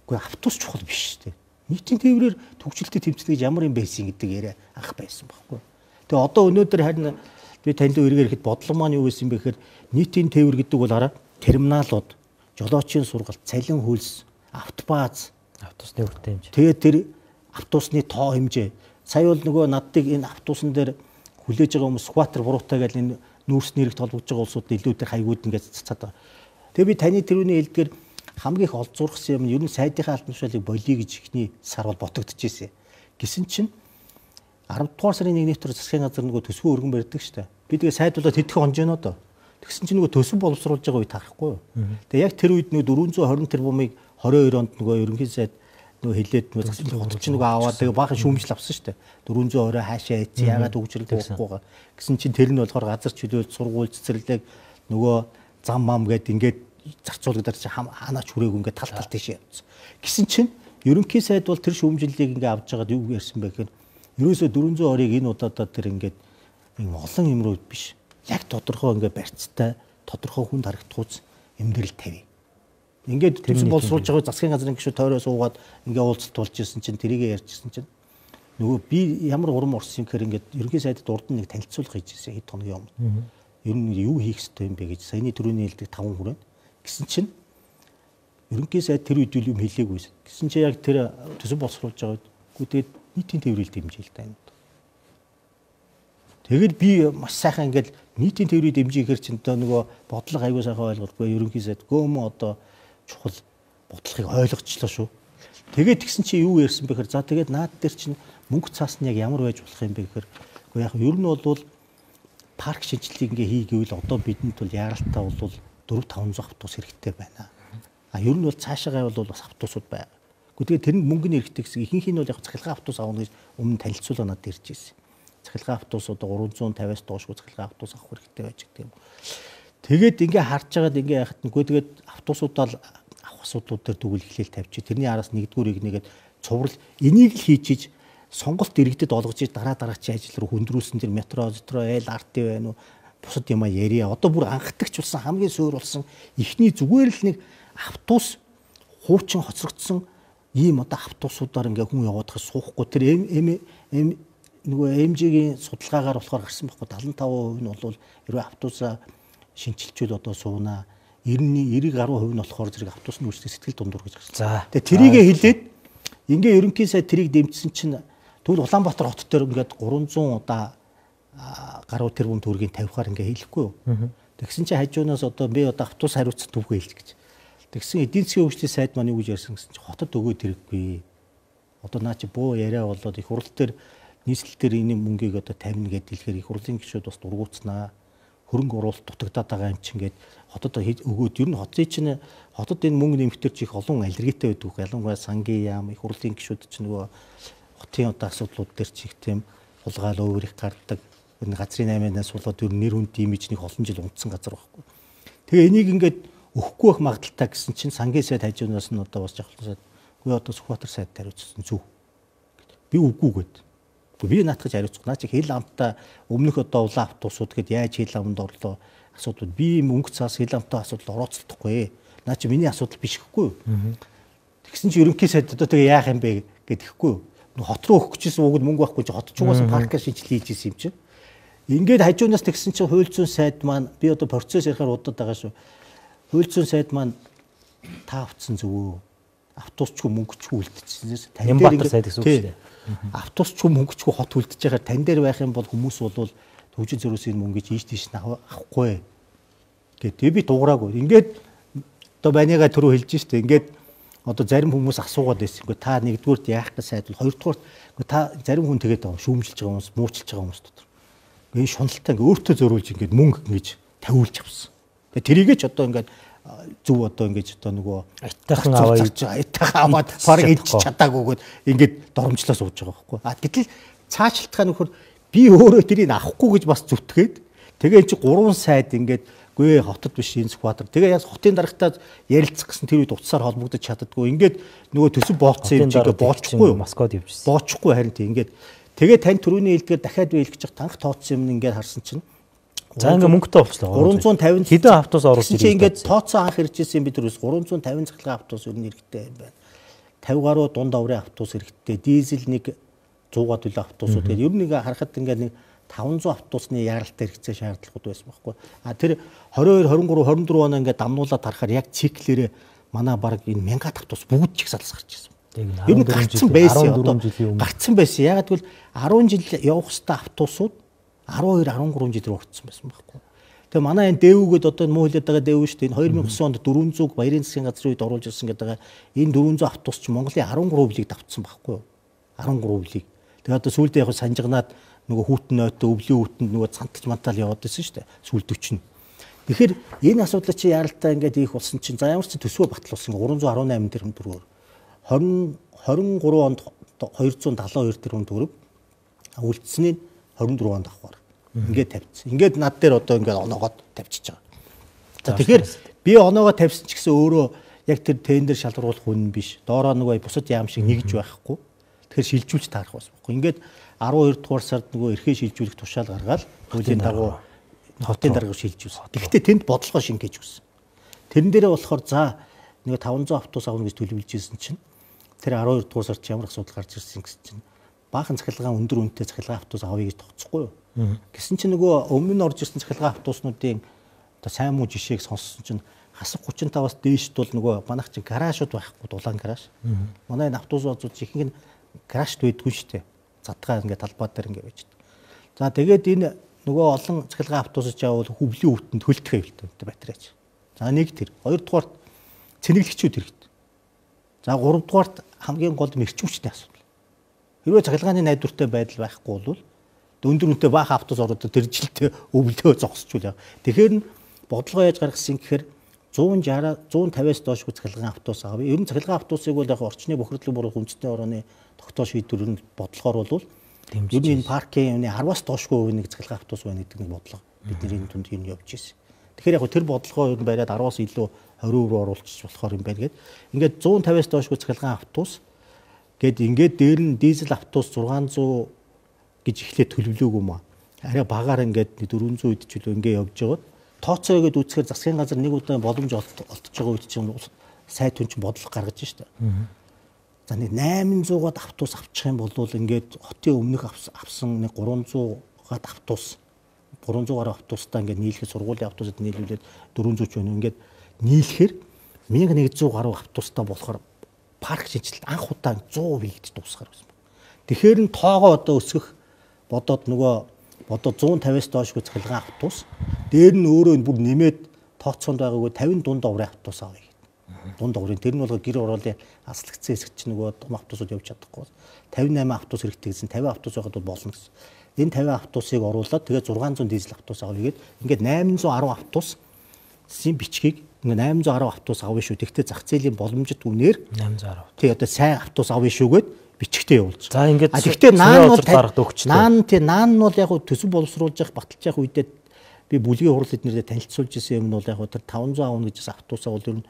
Гэхдээ автобус чухал биш шүү дээ. Нийтийн тээврээр төгсөлтөд тэмцэх гэж ямар юм байсан гэдэг яриа анх байсан байхгүй. Тэгээ одоо өнөөдөр харин би танд үргээр ихэд бодлого маань юу байсан бэ гэхээр нийтийн тээвэр гэдэг бол араа терминалууд, жолоочийн сургалт, цалин хөлс, автобаз, автобусны хүртээ хэмжээ. Тэгээд тэр автобусны тоо хэмжээ. Сая бол нөгөө надыг энэ автобусан дээр хүлээж байгаа хүмүүс скватер буруутай гэж энэ нүүрс нэрэгт холбогдож байгаа улсууд илүү тэр хаягууд ингээд цацаад байгаа. Тэгээ би таны тэрүүний хэлдгээр хамгийн их олзуурхсан юм нь ер нь сайдынхаа албан тушаалыг болиё гэж ихний сар бол ботогдчихжээ. Гэсэн чинь 10 дугаар сарын 1-ний өдөр засгийн газар нөгөө төсвөө өргөн барьдаг шүү дээ. Би тэгээ сайдуулаад хэдхэн хонжоно доо. Тэгсэн чинь нөгөө төсөв боловсруулж байгаа үед харахгүй юу. Тэгээ яг тэр үед нөгөө 420 тэрбумыг 22 онд нөгөө ерөнхий сайд нөгөө хилээд нөгөө засгийн хот чинь нөгөө аваад тэгээ баахан шүүмжил авсан шүү дээ. 420 хаашаа ийц яагаад хөгжрөл болохгүйгаа. Гэсэн чинь тэр нь болохоор газар чөлөөлт сургууль цэцэрлэг нөгөө зам мам гэд ингээд зарцуулагдаад чи ханаач хүрээгүй ингээд тал тийш явцсан. Гэсэн чинь ерөнхий сайд бол тэр шүүмжиллийг ингээд авч байгаад юу ярьсан бэ гэхээр ерөөсөө 420-ыг энэ удаадаа тэр ингээд олон юм руу биш. Яг тодорхой ингээд барьцтай, тодорхой хүнд харагдахуйц эмгэрэл тавь. Ингээд төсөв боловсруулж байгаа засгийн газрын гишүүд тойроо суугаад ингээд уулзалт болж ирсэн чинь тэрийгэ ярьжсэн чинь нөгөө би ямар урам орсон юм гэхээр ингээд ерөнхий сайдад урд нь нэг танилцуулга хийж ирсэн хэд хоногийн өмнө. Ер нь юу хийх ёстой юм бэ гэж саяны түрүүний хэлдэг 5 хүрээ. Гэсэн чинь ерөнхий сайд тэр үед юм хэлээгүй. Гэсэн чинь яг тэр төсөв боловсруулж байгаа үед тэгээд нийтийн тээврийг дэмжээл та юм. Тэгэл би маш сайхан ингээд нийтийн тээврийг дэмжихээр чинь нөгөө бодлого аягүй сайхан ойлгохгүй ерөнхий сайд гөөмө одоо чухал бодлогыг ойлгочлоо шүү. Тэгээд тэгсэн чи юу ярьсан бэ гэхээр за тэгээд наад дээр чинь мөнгө цаас нь яг ямар байж болох юм бэ гэхээр үгүй яг ер нь бол парк шинжилгээг ингээ хийгээвэл одоо бидэнд бол яаралтай бол 4-500 автобус хэрэгтэй байна. Ер нь бол цаашаагаа бол бас автобусууд байгаа. Гэхдээ тэр нь мөнгөний хэрэгтэй гэсэн ихэнх нь бол яг цахилгаан автобус авах гэж өмнө танилцуулга надад ирж ирсэн. Цахилгаан автобус одоо 350-аас доошгүй цахилгаан автобус авах хэрэгтэй байж гэх юм. Тэгээд ингээ харж байгаад ингээ яхад нүгөө тэгээд автобусуудаа авах асуудлууд дээр тэгвэл эхлээл тавьчих. Тэрний араас нэгдүгüүрийг нэгээд цуврал энийг л хийчиж сонголт иргэдэд олгож дараагийн ажил руу хөндрүүлсэн тэр метро, ЛРТ байна уу? Бусад юм яриа. Одоо бүр анхдагч болсон хамгийн суур болсон ихний зүгээр л нэг автобус хуучин хоцрогдсон ийм одоо автобусуудаар ингээ хүн яваадахыг суухгүй тэр нөгөө МЖ-гийн судалгаагаар болохоор гарсан байхгүй 75% нь бол ерөө автобусаа шинчилчүүл одоо суунаа 90-90% нь болохоор зэрэг автобусны үйлчлэг сэтгэл дундуур гэж гарсан. Тэгээ тэрийгэ хэлээд ингээ ерөнхий сайд тэрийг дэмжсэн чинь тэгвэл Улаанбаатар хот дээр ингээд 300 удаа гаруй тэрбум төгрөгийн тавихаар ингээ хийлэхгүй юу. Тэгсэн чинь хажуунаас одоо би одоо автобус хариуцсан түвхээ хэлж гэж. Тэгсэн эдийн засгийн хөгжлийн сайд маань юу гэж ярьсан гэсэн чинь хотод өгөөд хэрэггүй. Одоо наа чи буу яриа болоод их хурл дээр нийслэл дээр энэ мөнгийг одоо тавина гэдэг хэлэхээр их хурлын гишүүд бас дургуутснаа. Хөрөнгө оруулалт дутагдаад байгаа юм чинь гээд хотод өгөөд ер нь хотын чинь хотод энэ мөнгө нэмэхтэр чи их олон аллергитэй байдаг. Ялангуяа сангийн яам их хурлын гишүүд чинь нөгөө хотын одоо асуудлууд дээр чи их тийм хулгаал өөр их гардаг. Энэ газрын 8-аас болоод ер нь нэр хүнд имижнийг олон жил унтсан газар байхгүй. Тэгээ энийг ингээд өгөхгүй байх магадaltaй гэсэн чинь сангийн сайд хажуунаас нь одоо бас жахлан сайд үгүй одоо Сүхбаатар сайд хариуцсан зүв. Би үгүй гээд. Би наатгаж хариуцах. Наа чи хил амтаа өмнөх одоо улаан автобусууд гээд яаж хил амд орлоо асуудал би мөнгө цаас хил амтаа асуудал орооцолдохгүй. Наа чи миний асуудал биш гэхгүй юу. Тэгсэн чи ерөнхий сайд одоо тэгээ яах юм бэ гэдэхгүй юу. Хот руу өгөх гэжсэн угд мөнгө байхгүй чи хотч угаасан паркаа шинжил хийж исэн юм чи. Ингээд хажуунаас тэгсэн чи хууль зүйн сайд маань би одоо процесс ярихаар удаад байгаа шүү. Хууль зүйн сайд маань та авцсан зөвөө автобусчгүй мөнгөчгүй үлдчихсэн. Нямбатар сайд гэсэн үг шүү дээ. Автобусчгүй мөнгөчгүй хот үлдчихэж байгаа тань дээр байх юм бол хүмүүс бол төвжин зөрөөсийн мөнгө ийш тийш авахгүй гэдэг би дуураагүй. Ингээд одоо банигаа түрүү хэлж штэ. Ингээд одоо зарим хүмүүс асуугаад байсан. Гэхдээ та нэгдүгüүрт яах гэж сайд бол хоёрдугüүрт та зарим хүн тэгээд байгаа шүүмжилж байгаа хүмүүс, муучилж байгаа хүмүүс дотор. Ингээд шуналтай ингээд өөртөө зөөрүүлж ингээд мөнгө ингэж тавиулж авсан. Тэгээд тэрийгээ ч одоо ингээд зүв одоо ингэж одоо нөгөө айтайхан аваад парк идчих чадаагүйгээд ингээд доромжлоо сууж байгаа байхгүй. Гэтэл цаашлтгаа нөхөр би өөрөө тэрийг авахгүй гэж бас зүтгээд тэгээ чи 3 сайд ингээд гүй хотод биш энэ Сүхбаатар. Тэгээ яс хотын дарагтаа ярилцах гэсэн тэр үед утсаар холбогдож чаддгүй. Ингээд нөгөө төсөв болцсон юм чигээ боочхгүй юу? Москвад явжсэн. Боочхгүй харин тийм ингээд тэгээ тань түрүүний хэлдгээр дахиад би хэлэх гэж танх тооцсон юм ингээд харсан чинь за ингээ мөнгөтэй болчихлоо. 350 хэдэн автобус оруулж ирсэн. Чи ингээд тооцоо анх иржсэн би түрүүс 350 цахилгаан автобус ер нь хэрэгтэй юм байна. 50 гаруй дунд аврын автобус хэрэгтэй. Дизель нэг 100-аад үлээ автобусууд гэдэг. Ер нь нэг харахад ингээд нэг 500 автобусны яаралтай хэрэгцээ шаардлагууд байсан байхгүй. Тэр 22, 23, 24 оноо ингээд дамнуулаад харахаар яг циклэрээ манай баг энэ 1000 автобус бүгд чигсалс гарч ирсэн. Ер нь гарцсан байсан. Гарцсан байсан. Ягаад гэвэл 10 жил явах хэвээр автобусууд 12, 13 жил уртсан байсан байхгүй. Тэгээ манай энэ дэвүүгээд одоо муу хэлээд байгаа дэвүү шүү дээ. Энэ 2009 онд 400 баярын засгийн газрын үед оруулж ирсэн гэдэг байгаа. Энэ 400 автобус ч Монголын 13 билийг давтсан байхгүй юу? 13 билийг. Тэгээ одоо сүүлдээ яг санжигнаад нөгөө хүүтэн нойтой өвлийн хүүтэнд нөгөө цанталж мантал яваад байсан шүү дээ. Сүүл 40. Тэгэхээр энэ асуудлыг чи яаралтай ингээд ийх болсон чинь за ямар ч төсвөө батлуулсан 318 тэрбум төгрөгөөр 23 онд 272 тэрбум төгрөг үлдсэнийг 24 онд авахар. Ингээд тавьчихсан. Ингээд над дээр одоо ингээд оноогоод тавьчихж байгаа. За тэгэхээр би оноогоо тавьсан ч гэсэн өөрөө яг тэр тендер шалгаруулах хүн биш. Доороо нөгөө бусад яам шиг нэгж байхгүй. Тэгэхээр шилжүүлж таарах бас байхгүй. Ингээд 12 дугаар сард нөгөө эрхээ шилжүүлэх тушаал гаргаад хуулийн дагуу хотын дарга шилжүүлсэн. Тэгэхдээ тэнд бодлогоо шингээж өгсөн. Тэрэн дээрээ болохоор за нэг 500 автобус авах гэж төлөвлөж ирсэн чинь тэр 12 дугаар сард ямар асуудал гарч ирсэн гэсэн чинь баахан цахилгаан өндөр үнэтэй цахилгаан автобус авъя гэж тооцохгүй юу. Гэсэн чинь нөгөө өмнө нь орж ирсэн цахилгаан автобуснуудын одоо сайн муу жишээг сонссон чинь хасах 35-аас дээшд бол нөгөө манайх чинь гаражууд байхгүй дулаан гараж. Манай энэ автобусууд ихэнх нь гаражд байдгүй шүү дээ. Задгаа ингээд талбай дээр ингээд байж дээ. За тэгээд энэ нөгөө олон цахилгаан автобусч явал хөвлийн өвтөнд хөлтөх хэвлэлтэй батарейч. За нэг тэр. Хоёрдугаарт цэнэглэгчүүд хэрэгтэй. За гуравдугаарт хамгийн гол мэрчүүчтэй асуудал. Хэрвээ цахилгааны найдвартай байдал байхгүй бол өндөр үнэтэй баах автобус ороод тэр жилдээ өвлөө зогсчул яа. Тэгэхээр бодлого яаж гаргасан гэхээр 150-аас доошгүй цахилгаан автобус авъя. Ер нь цахилгаан автобусыг бол яг орчны бохирдлын буруу үндэсний орооны тогтоол шийдвэр нь бодлогоор бол ер нь энэ паркийн 10-аас доошгүй нэг цахилгаан автобус байна гэдэг нэг бодлого бидний энэ түнд юм явж ирсэн. Тэгэхээр яг тэр бодлогоо ер нь бариад 10-аас илүү 20% руу оруулчих болохоор юм байна гэдэг. Ингээд 150-аас доошгүй цахилгаан автобус гээд ингээд дээр нь дизель автобус 600 гэж эхлээд төлөвлөөгүй маа. Арай багаар ингээд 400 үед ч үлээ ингээд явж байгаад тооцоо өгöd үзэхээр засгийн газар нэг удаа боломж олдож байгаа үед чинь сайд хүн чинь бодлого гаргаж штэ. За нэг 800-аад автобус авчих юм бол ингээд хотын өмнөх авсан нэг 300-аад автобус 300 гаруй автобустай ингээд нийлэхэд сургуулийн автобусад нийлүүлээд 400 ч байна. Ингээд нийлэхээр 1100 гаруй автобустай болохоор парк шинжилт анх удаа 100% хийгдэж дуусгаар байсан. Тэгэхээр н тоогоо одоо өсгөх бодоод нөгөө одоо 150-аас доошгүй цахилгаан автобус. Дээр нь өөрөө бүр нэмээд тооцоонд байгаагүй 50 дунд оврын автобус авъя гэдэг. Дунд оврын тэр нь бол гэр ороолын аслагдсан хэсэг чинь нөгөө том автобусууд явж чадахгүй. 58 автобус хэрэгтэй гэсэн 50 автобус байгаад бол болно гэсэн. Энэ 50 автобусыг оруулаад тэгээ 600 дизель автобус авъя гэдэг. Ингээд 810 автобусын бичгийг ингээд 810 автобус авъя шүү. Тэгтээ зах зээлийн боломжит үнээр 810. Тий одоо сайн автобус авъя шүүгээд бичгтээ явуулж. За ингээд тэгтээ наан бол гаргад өгчтэй. Наан нь бол яг төсөв боловсруулж явах баталж явах үедээ би бүлгийн хурал эднэрээ танилцуулж ирсэн юм нь бол яг тэр 500 авна гэж автобусаа бол ер нь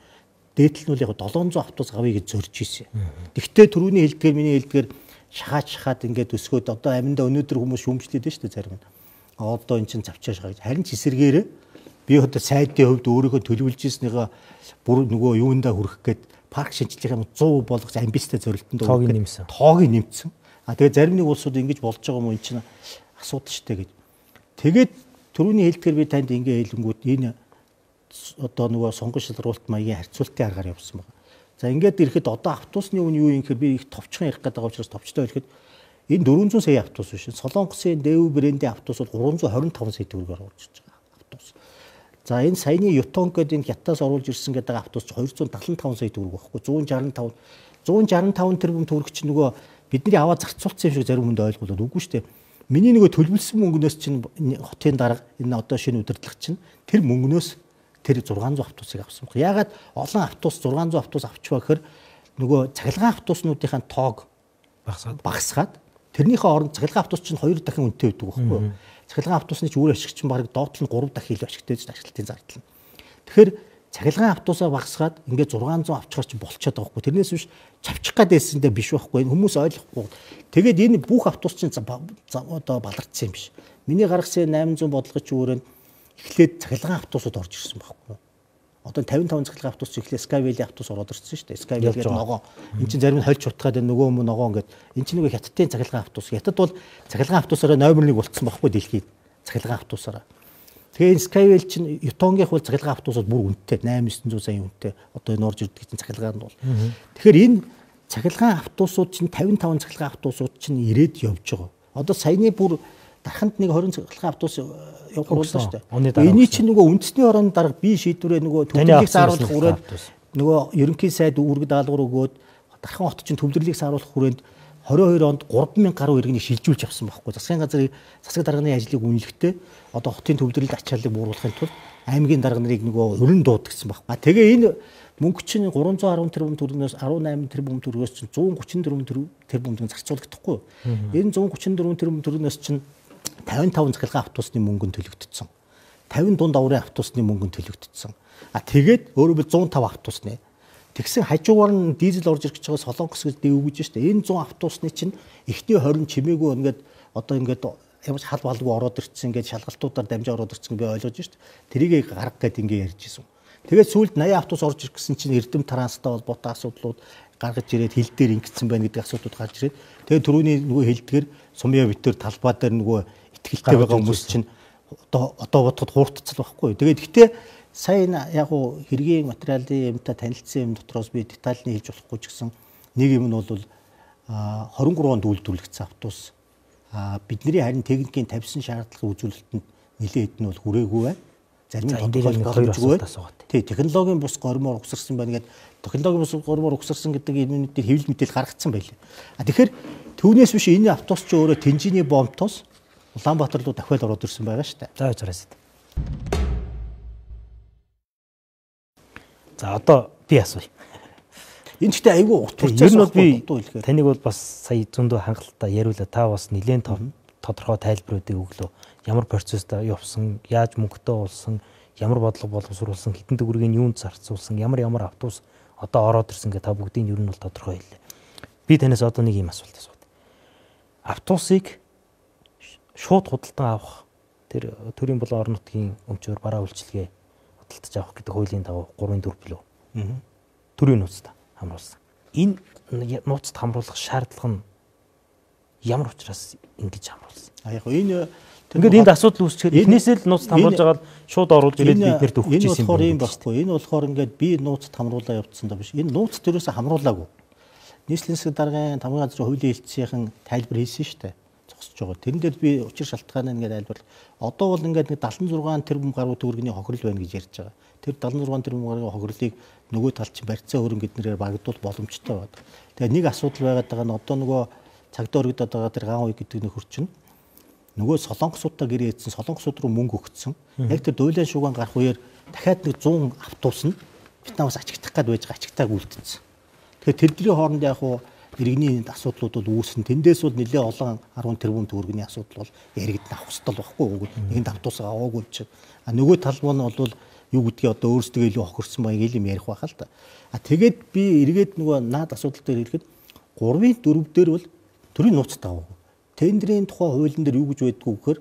дээдл нь бол яг 700 автобус авъя гэж зорж ирсэн. Тэгтээ түрүүний хэлдгээр миний хэлдгээр шахаад ингээд өсгөөд одоо аминда өнөөдөр хүмүүс шүүмжлээд байна шүү дээ зарим нь. Одоо эн чинь завчааш байгаа. Харин ч эсэргээрээ би одоо сайдын хувьд өөрийнхөө төлөвлөж ирснийгаа бүр нөгөө юундаа хүрэх гээд парк шинжилгээ 100% болгох амбицтай зорилтонд тоог нэмсэн. Тэгээ зарим нэг улсууд ингэж болж байгаа юм энэ чинь асуудал шүү дээ гэж. Тэгээд түрүүний хэлдгээр би танд ингээ хэлэнгүүт энэ одоо нөгөө сонгон шалралт маягийн харьцуултын аргаар явсан байна. За ингээд ирэхэд одоо автобусны үн юу юм гэхээр би их товчхон ярих гэдэг учраас товчтой хэлэхэд энэ 400 сая автобус биш. Солонгосын дэв брендийн автобус бол 325 сая төгрөгөөр оруулж ирж байгаа автобус. За энэ саяны Ютонг гэдэг энэ хятадаас оруулж ирсэн гэдэг автобус 275 сая төгрөг байхгүй 165 тэрбум төгрөг чинь нөгөө бидний аваа зарцуулсан юм шиг зарим хүнд ойлгуулад үгүй шүү дээ. Миний нөгөө төлөвлөсөн мөнгнөөс чинь хотын дарга энэ одоо шинэ удирдлага чинь тэр мөнгнөөс тэр 600 автобусыг авсан баг. Ягаад олон автобус 600 автобус авч байгаа гэхээр нөгөө цахилгаан автобуснуудынхаа тоог багасгаад тэрнийхээ оронд цахилгаан автобус чинь 2 дахин үнэтэй байдаг байхгүй юу? Цахилгаан автобусны ч үр ашигч чинь бараг доотлол нь 3 дахин илүү ашигтай гэж ашиглалтын зардал нь. Тэгэхээр цахилгаан автобусаа багасгаад ингээд 600 авчихаар чинь болчиход байгаа байхгүй. Тэрнээс биш чавчих гадээсэндээ биш байхгүй. Хүмүүс ойлгохгүй. Тэгээд энэ бүх автобус чинь одоо балардсан юм биш. Миний гаргасан 800 бодлогоч өөрөнд эхлээд цахилгаан автобусууд орж ирсэн байхгүй. Одоо 55 цахилгаан автобус эхлээд Skyway автобус ороод ирсэн шүү дээ. Skyway гэдэг ногоо. Энд чинь зарим нь хольж утгаад нөгөө өмнө ногоо ингээд энэ чинь нөгөө хятадын цахилгаан автобус. Хятад бол цахилгаан автобусаараа номер 1 болцсон байхгүй дэлхийд. Цахилгаан автобусаараа. Тэгээ энэ Skyway чинь Ютонгийнх бол цахилгаан автобусууд бүр үнэтэй 8-900 сая үнэтэй. Одоо энэ орж ирдэг чинь цахилгаан нь бол. Тэгэхээр энэ цахилгаан автобусууд чинь 55 цахилгаан автобусууд чинь ирээд явж байгаа. Одоо саяны бүр дарханд нэг 20 цахилгаан автобус явуулсан шүү дээ. Эний чинь нөгөө үндэсний орон дарга би шийдвэрээ нөгөө төвлөрлийг сааруулах хүрээнд нөгөө ерөнхий сайд үүрэг даалгавар өгөөд дархан хот чинь төвлөрлийг сааруулах хүрээнд 22 онд 3000 гаруй иргэнийг шилжүүлж авсан байхгүй. Засгийн газрын засаг дарганы ажлыг үнэлэхдээ одоо хотын төвлөрлөлт ачааллыг бууруулахын тулд аймгийн дарга нарыг нөгөө өрн дуудагдсан байхгүй. Тэгээ энэ мөнгө чинь 310 тэрбум төгрөгнөөс 18 тэрбум төгрөгөөс чинь 134 тэрбум төгрөг зарцуулагдахгүй. Энэ 134 тэрбум төгрөгнөөс чинь 55 цахилгаан автобусны мөнгөнд төлөгдсөн. 50 дунд оврын автобусны мөнгөнд төлөгдсөн. Тэгээд өөрөөр 105 автобусны. Тэгсэн хажуугаар нь дизель орж ирэх гэж байгаа Солонгос гэж дэвгэж штэ. Энэ 100 автобусны чинь эхний 20 чимээгүй ингээд одоо ингээд ямар ч хал балгүй ороод ирсэн ингээд шалгалтуудаар дамжаа ороод ирсэн би ойлгож штэ. Тэрийг гарга гэд ингээд ярьж исэн. Тэгээд сүүлд 80 автобус орж ирэх гэсэн чинь эрдэм транстай холбоотой асуудлууд гаргаж ирээд хил дээр ингэсэн байна гэдэг асуудлууд гарч ирээд тэгээд түрүүний нөгөө хэлдгэр сумья битэр талбай дээр нөгөө итгэлтэй байгаа хүмүүс чинь одоо бодоход хууртцал байхгүй. Тэгээд гэхдээ сайн яг уу хэргийн материалын юмтай танилцсан юм дотроос би детальны хэлж болохгүй ч гэсэн нэг юм нь бол 23 онд үйлдвэрлэгдсэн автобус бидний харин техникийн тавьсан шаардлагын үзүүлэлтэнд нэлээд нь бол хүрээгүй байна. Зарим нь тодорхойлогдоогүй байна. Тий, технологийн бус гормоор угсарсан байна гэдэг технологийн бус гормоор угсарсан гэдэг энэ дээр хэвлэл мэдээл гаргацсан байлээ. Тэгэхээр түүнээс биш энэ автобус ч өөрөө Тэнжиний бомтоос Улаанбаатар руу дахиад ороод ирсэн байгаа шүү дээ. За яжраас. За одоо би асууя. Энэ ч гэдэг айгүй утгатай. Ер нь бол би таныг бол бас сая зөндөө хангалттай яриулаа. Та бас нэлээд тодорхой тайлбаруудыг өглөө. Ямар процесстэй явсан, яаж мөнгөтэй болсон, ямар бодлого боловсруулсан, хэдэн төгрөгийг юунд зарцуулсан, ямар автобус одоо ороод ирсэн гэх та бүгдийг ер нь бол тодорхой хэллээ. Би танаас одоо нэг юм асуулт асууя. Автобусыг шууд худалдан авах тэр төрийн болон орон нутгийн өмчөөр бараа үйлчилгээ худалдаж авах гэдэг хуулийн дагуу 3-4 билүү. Төрийн нууцтай хамруулсан. Энэ нууцад хамруулах шаардлага нь ямар учраас ингэж хамруулсан? Яг энэ ингээд энд асуудал үүсчихэд эхнээсээ л нууцад хамруулж байгаа шууд оруулж ирээд биднэрт өгч ирсэн юм байхгүй. Энэ болохоор ингээд би нууцад хамруулаа явуулсан даа биш. Энэ нууцад ерөөсө хамруулаагүй. Нийслэлийн засаг даргын тамгын газрын хуулийн хэлтсийнхэн тайлбар хийсэн шүү дээ. зогсож байгаа. Тэрэн дээр би учир шалтгаан нь ингээд айлбар. Одоо бол ингээд 76 тэрбум гаруй төгрөгийн хохирол байна гэж ярьж байгаа. Тэр 76 тэрбум гаруй хохирлыг нөгөө тал чинь барьцаа хөрөнгө эднэрээр багтуул боломжтой байна. Тэгээ нэг асуудал байгаад байгаа нь одоо нөгөө цагдаа өргөдөд байгаа тэр гаан уй гэдэг нөхөр чинь нөгөө солонгосуудаа гэрээ ийдсэн солонгосууд руу мөнгө өгсөн. Яг тэр дуйлан шугаан гарах үеэр дахиад нэг 100 автобус нь Вьетнамаас ачигдах гээд байж байгаа ачигтааг үлдсэн. Тэгэхээр тэдний хооронд яг хуу иргэний асуудлууд бол үүснэ. Тэндээс бол нэлээд олон 10 тэрбум төгрөгийн асуудал бол яригдана авах хэрэгтэй байхгүй. Нэгэнд автобус аваагүй чинь. А нөгөө талбай нь бол юу гэдгийг одоо өөрсдөө илүү хохирсон баяг юм ярих байхаа л та. А тэгээд би эргээд нөгөө наад асуудал дээр хэлэхэд 3-ын 4 дээр бол төрийн нууц таваагүй. Тендерийн тухай хуулийн дээр юу гэж байдгүй гэхээр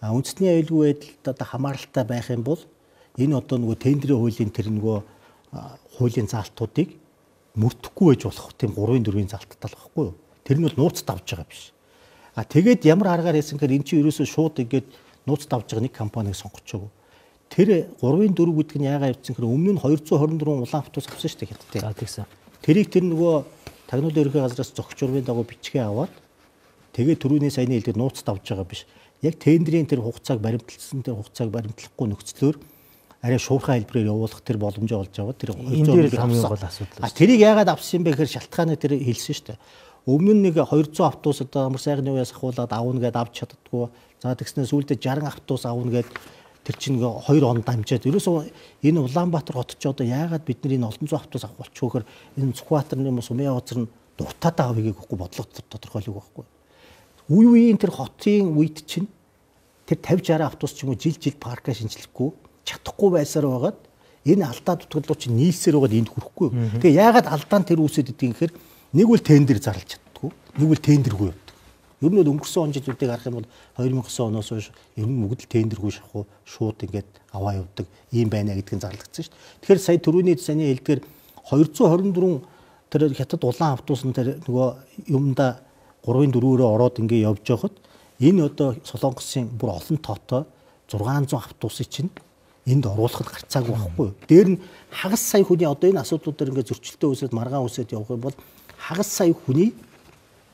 үндэсний аюулгүй байдалд одоо хамааралтай байх юм бол энэ одоо нөгөө тендерийн хуулийн тэр нөгөө хуулийн заалтуудыг мөрдөхгүй байж болох тийм 3-ын 4-ийн залттай л байхгүй юу. Тэр нь бол нууц давж байгаа биш. А тэгээд ямар аргаар хийсэн гэхээр эн чинь ерөөсөө шууд ингээд нууц давж байгаа нэг компанийг сонгочихоогүй. Тэр 3-ын 4 гэдэг нь яагаад явцсан гэхээр өмнө нь 224 улаан автобус авсан шүү дээ хятадтай. За тэгсэн. Тэрийг тэр нөгөө тагнуулын ерөнхий газраас зохич урмын дагуу бичгээ аваад тэгээд түрүүний саяны хэлдэг нууц давж байгаа биш. Яг тендерийн тэр хугацааг баримтлсан тэр хугацааг баримтлахгүй нөхцлөөр арай шуурхай хэлбэрээр явуулах тэр боломж олж аваад тэр энэ дээр хамгийн гол асуудал. А тэрийг яагаад авсан юм бэ гэхээр шалтгааны тэр хэлсэн шүү дээ. Өмнө нь нэг 200 автобус одоо амар сайхны үеэс ахуулаад авна гэдээ авч чаддгүй. За тэгснээр сүүлдээ 60 автобус авна гэдээ тэр чинь 2 он дамжаад ерөөсөө энэ Улаанбаатар хот ч одоо яагаад бидний энэ олон зуун автобус авах болчихвоо гэхээр энэ Сүхбаатарын юм Сумын явцар нь дуртаатай авъя гэхгүй бодлого тодорхойлог байхгүй. Үе үеийн тэр хотын үед чинь тэр 50 60 автобус ч юм уу жил парка шинжлэхгүй чадахгүй байсаар байгаад энэ алдаа дутагдлууд чинь нийлсээр байгаад энд хүрэхгүй. Тэгээ яагаад алдаа нь тэр үүсэт идэг гэхээр нэг үл тендер зарлж чаддгүй, нэг үл тендергүй явдаг. Ер нь бол өнгөрсөн он жилүүдийг харах юм бол 2009 оноос хойш ер нь бүгд л тендергүй шахуу шууд ингээд аваа явдаг юм байна гэдг нь зарлагдсан шүү дээ. Тэгэхээр сая түрүүний саяны хэлдгээр 224 тэр хятад улаан автобус нь тэр нөгөө юмда 3-ын 4-өрөө ороод ингээд явж байхад энэ одоо Солонгосын бүр олон тоотой 600 автобусыг чинь энд оруулахад гарцаагүй байхгүй. Дээр нь хагас сая хүний одоо энэ асуудлууд дээр ингээд зөрчилтэй үсээд маргаан үсээд явах юм бол хагас сая хүний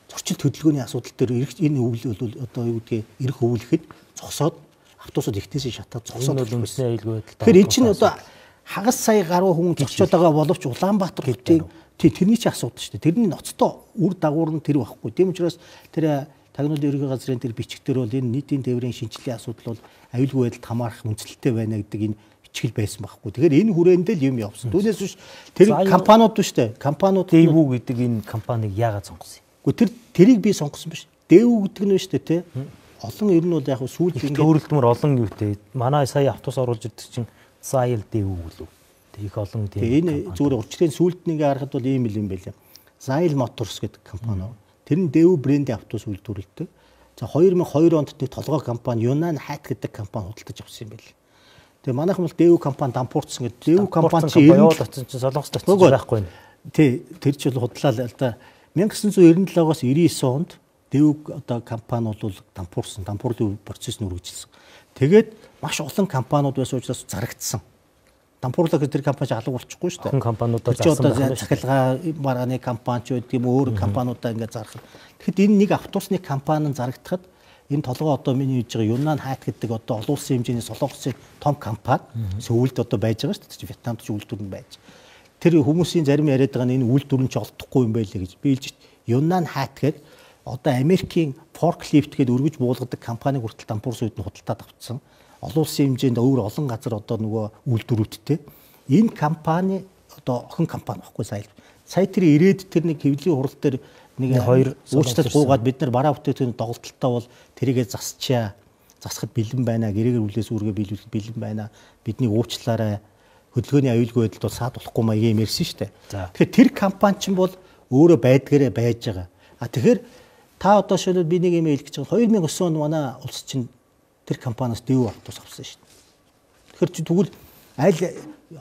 зөрчил хөдөлгөөний асуудал дээр энэ өвөл бол одоо юу гэдгийг эрх өвлөхэд зогсоод автобусууд ихнээсээ шатаад зогсоод үндэсний аюулгүй байдал. Тэгэхээр эн чинь одоо хагас сая гаруй хүн зогсоод байгаа боловч Улаанбаатар хотын тэрний ч асуудал шүү дээ. Тэрний ноцтой үр дагавар нь тэр байхгүй. Тийм учраас тэр тагнуулын ерөнхий газрын тэр бичгээр бол энэ нийтийн тээврийн шинжилгээний асуудал бол аюулгүй байдалд хамаарах үндэслэлтэй байна гэдэг энэ бичгэл байсан байхгүй. Тэгэхээр энэ хүрээндээ л юм явсан. Түүнээс биш тэр компаниуд биш үү? Компаниуд Дэвүү гэдэг энэ компанийг яагаад сонгосон юм? Гэхдээ тэрийг би сонгосон биш. Дэвүү гэдэг нь биш үү те? Олон ер нь бол яг сүүл ингээд төрөлдмөр олон юутэй. Манай сая автобус оруулж ирдэг чинь Зайл Дэвүү лөө. Их олон тийм. Энэ зүгээр урьдчилан сүулт нэгээ харахад бол ийм л юм байлаа. Зайл Motors гэдэг компани. Тэр нь Дэвүү брендийн автобус үйлдвэрлэдэг. За 2002 онд нэг толгой компани Юнан Хайт гэдэг компани худалдаж авсан юм байл. Тэгээ манайхан бол Дэвүү компани дампуурсан гэдэг. Дэвүү компани чинь яваад очсон чинь Солонгост очсон байхгүй нэ. Тий, тэр чинь худлаа л да 1997-оос 99 онд Дэвүү одоо компани бол дампуурсан, дампуурлын процесс нь үргэлжилсэн. Тэгээд маш олон компаниуд байсан учраас зарагдсан. Дампуурлаг гэдэг компани алга болчихгүй шүү дээ. Хүн компаниудаа зарсан байна. Захилгаа маргааны компани ч байдаг юм өөр компаниудаа ингээд зарах. Тэгэхэд энэ нэг автобусны компани нь зарагдахад энэ толгой одоо миний хийж байгаа Юнан Хайт гэдэг одоо олон улсын хэмжээний Солонгосын том компани сүүлд одоо байж байгаа шүү дээ. Вьетнамд ч үйлдвэр нь байж. Тэр хүмүүсийн зарим яриад байгаа нь энэ үйлдвэр нь ч олдохгүй юм байлээ гэж би хэлж Юнан Хайт гэдэг одоо Америкийн forklift гэдэг өргөж буулгадаг компаниг хүртэл дампуурс үед нь худалдаад авцсан. Олон улсын хэмжээнд өөр олон газар одоо нөгөө үйлдвэрүүдтэй энэ компани одоо охин компани баггүй сая тэр ирээд тэр нэг хэвлэлийн хурал дээр нэг хоёр уучлалт гуугаад бид нар бараа бүтээгдэхүүн доголдолтой бол тэрийгэ засахад бэлэн байна гэрээгээр үлээс үүргээ биелүүлэхэд бэлэн байна бидний уучлаарай хөдөлгөөний аюулгүй байдалд бол саад болохгүй маяг юм ярьсан шүү дээ. Тэгэхээр тэр компани ч бол өөрөө байдгаараа байж байгаа. А тэгэхээр та одоо шилбэл би нэг юм хэлэх гэж байгаа 2009 он манай улс чинь тэр компаниас Дэвүү автобус авсан шүү дээ. Тэгэхээр чи тэгвэл аль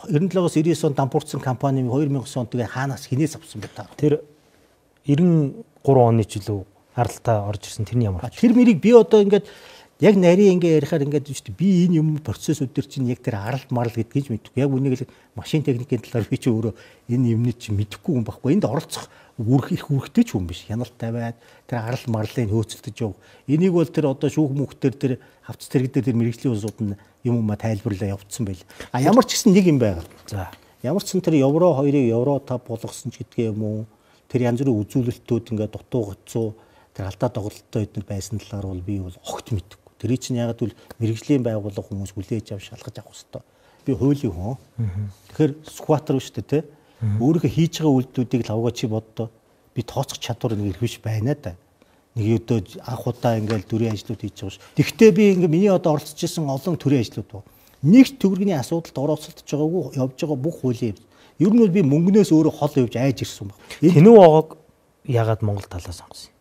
97-оос 99 онд дампуурсан компани 2009 онд тэгээ хаанаас хинээс авсан бэ та? Тэр 93 оны жилүү аралтаа орж ирсэн тэрний ямар? Тэр мэрийг би одоо ингээд Яг нарийн ингээ ярихаар ингээд шүү дээ. Би энэ юм процессүүд төр чинь яг тэр арал марл гэдгийг ч мэдэхгүй. Яг үнийг л машин техникийн талаар би чи өөрөө энэ юмны чи мэдэхгүй юм байхгүй. Энд оролцох их үүрэгтэй ч юм биш. Хяналттай байд тэр арал марлыг хөөцөлдөж яв. Энийг бол тэр одоо шүүх мөнхтөр тэр хавц тэрэгдэр тэр мэрэгжлийн улсууд нь юм тайлбарлаа явуулсан байл. А ямар ч гэсэн нэг юм байгаа. За. Ямар ч сан тэр евро 2-ыг евро 5 болгосон ч гэдгээ юм уу. Тэр янз бүрийн үзүүлэлтүүд ингээд дутуу гоцоо тэр алдаа тоглолттой эдгээр байсан талаар бол би бол огт мэдэхгүй. Тэр чинь ягаад гэвэл мэрэгжлийн байгууллага хүмүүс хүлээж авч шалгаж авах хэрэгтэй. Би хуулийн хүн. Тэгэхээр скватер биш үү те. Өөрийнхөө хийж байгаа үйлдэлүүдийг лавгаа чи боддоо. Би тооцох чадвар нэг ирэх биш байна да. Нэг өдөө анх удаа ингээл төрийн ажлууд хийж байгаа ш. Тэгвэл би ингээ миний одоо оролцож исэн олон төрийн ажлууд байна. Нэг төгрөгийн асуудалд оролцолдож байгаагүй явж байгаа бүх хуулийн. Ер нь бол би мөнгнөөс өөрөө хол явж айж ирсэн баг. Тэнүү оогоог ягаад Монгол талаас сонгосон?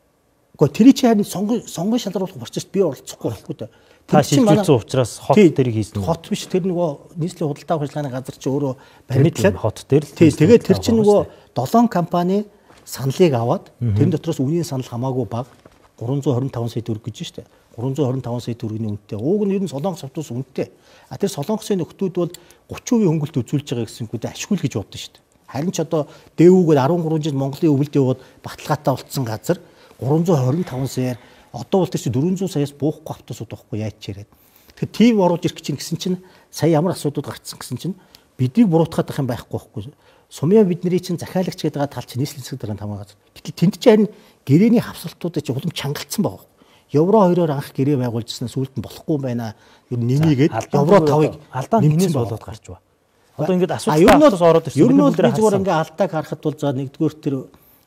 Гэхдээ тэр чинь харин сонгон шалгаруулах процесс би оролцохгүй байхгүй да. Та шилжүүлсэн учраас хот дээрийг хийсэн. Хот биш тэр нөгөө нийслэлийн худалдаа ажиллагааны газар чи өөрөө баримтлаад хот дээр л. Тэгээд тэр чинь нөгөө 7 компани саналыг аваад тэрэн дотроос үнийн санал хамаагүй бага 325 сая төгрөг гэж штэ. 325 сая төгрөгийн үнэтэй. Ууг нь ер нь Солонгос автобус үнэтэй. А тэр Солонгосын нөхдүүд бол 30% хөнгөлт үзүүлж байгаа гэсэнгүй ашгүй л гэж бодсон штэ. Харин ч одоо дээгүүгээр 13 жил Монголын өвөлд яваад баталгаатай болцсон газар 325 саяар одоо бол тэр чинь 400 саяас буухгүй автобусууд байхгүй яаж ч яриад. Тэгэхээр тийм оруулж ирэх чинь гэсэн чинь сая ямар асуудууд гарцсан гэсэн чинь биднийг буруутгаад байх юм байхгүй. Сумья бидний чинь захиалагч гэдэг байгаа тал чинь нийслэлийн засаг дарганд хамаагаад. Гэтэл тэнд чинь харин гэрээний хавсалтуудад чинь улам чангалтсан байгаа. Евро 2-оор анх гэрээ байгуулжснаа сүүлд нь болохгүй байна. Ер нь нэмийгээд евро 5-ыг алдаа нэмээс болоод гарч ба. Одоо ингээд асуудал ороод ирсэн. Ер нь бол би зүгээр ингээ алдааг харахад бол за нэгдүгээр тэр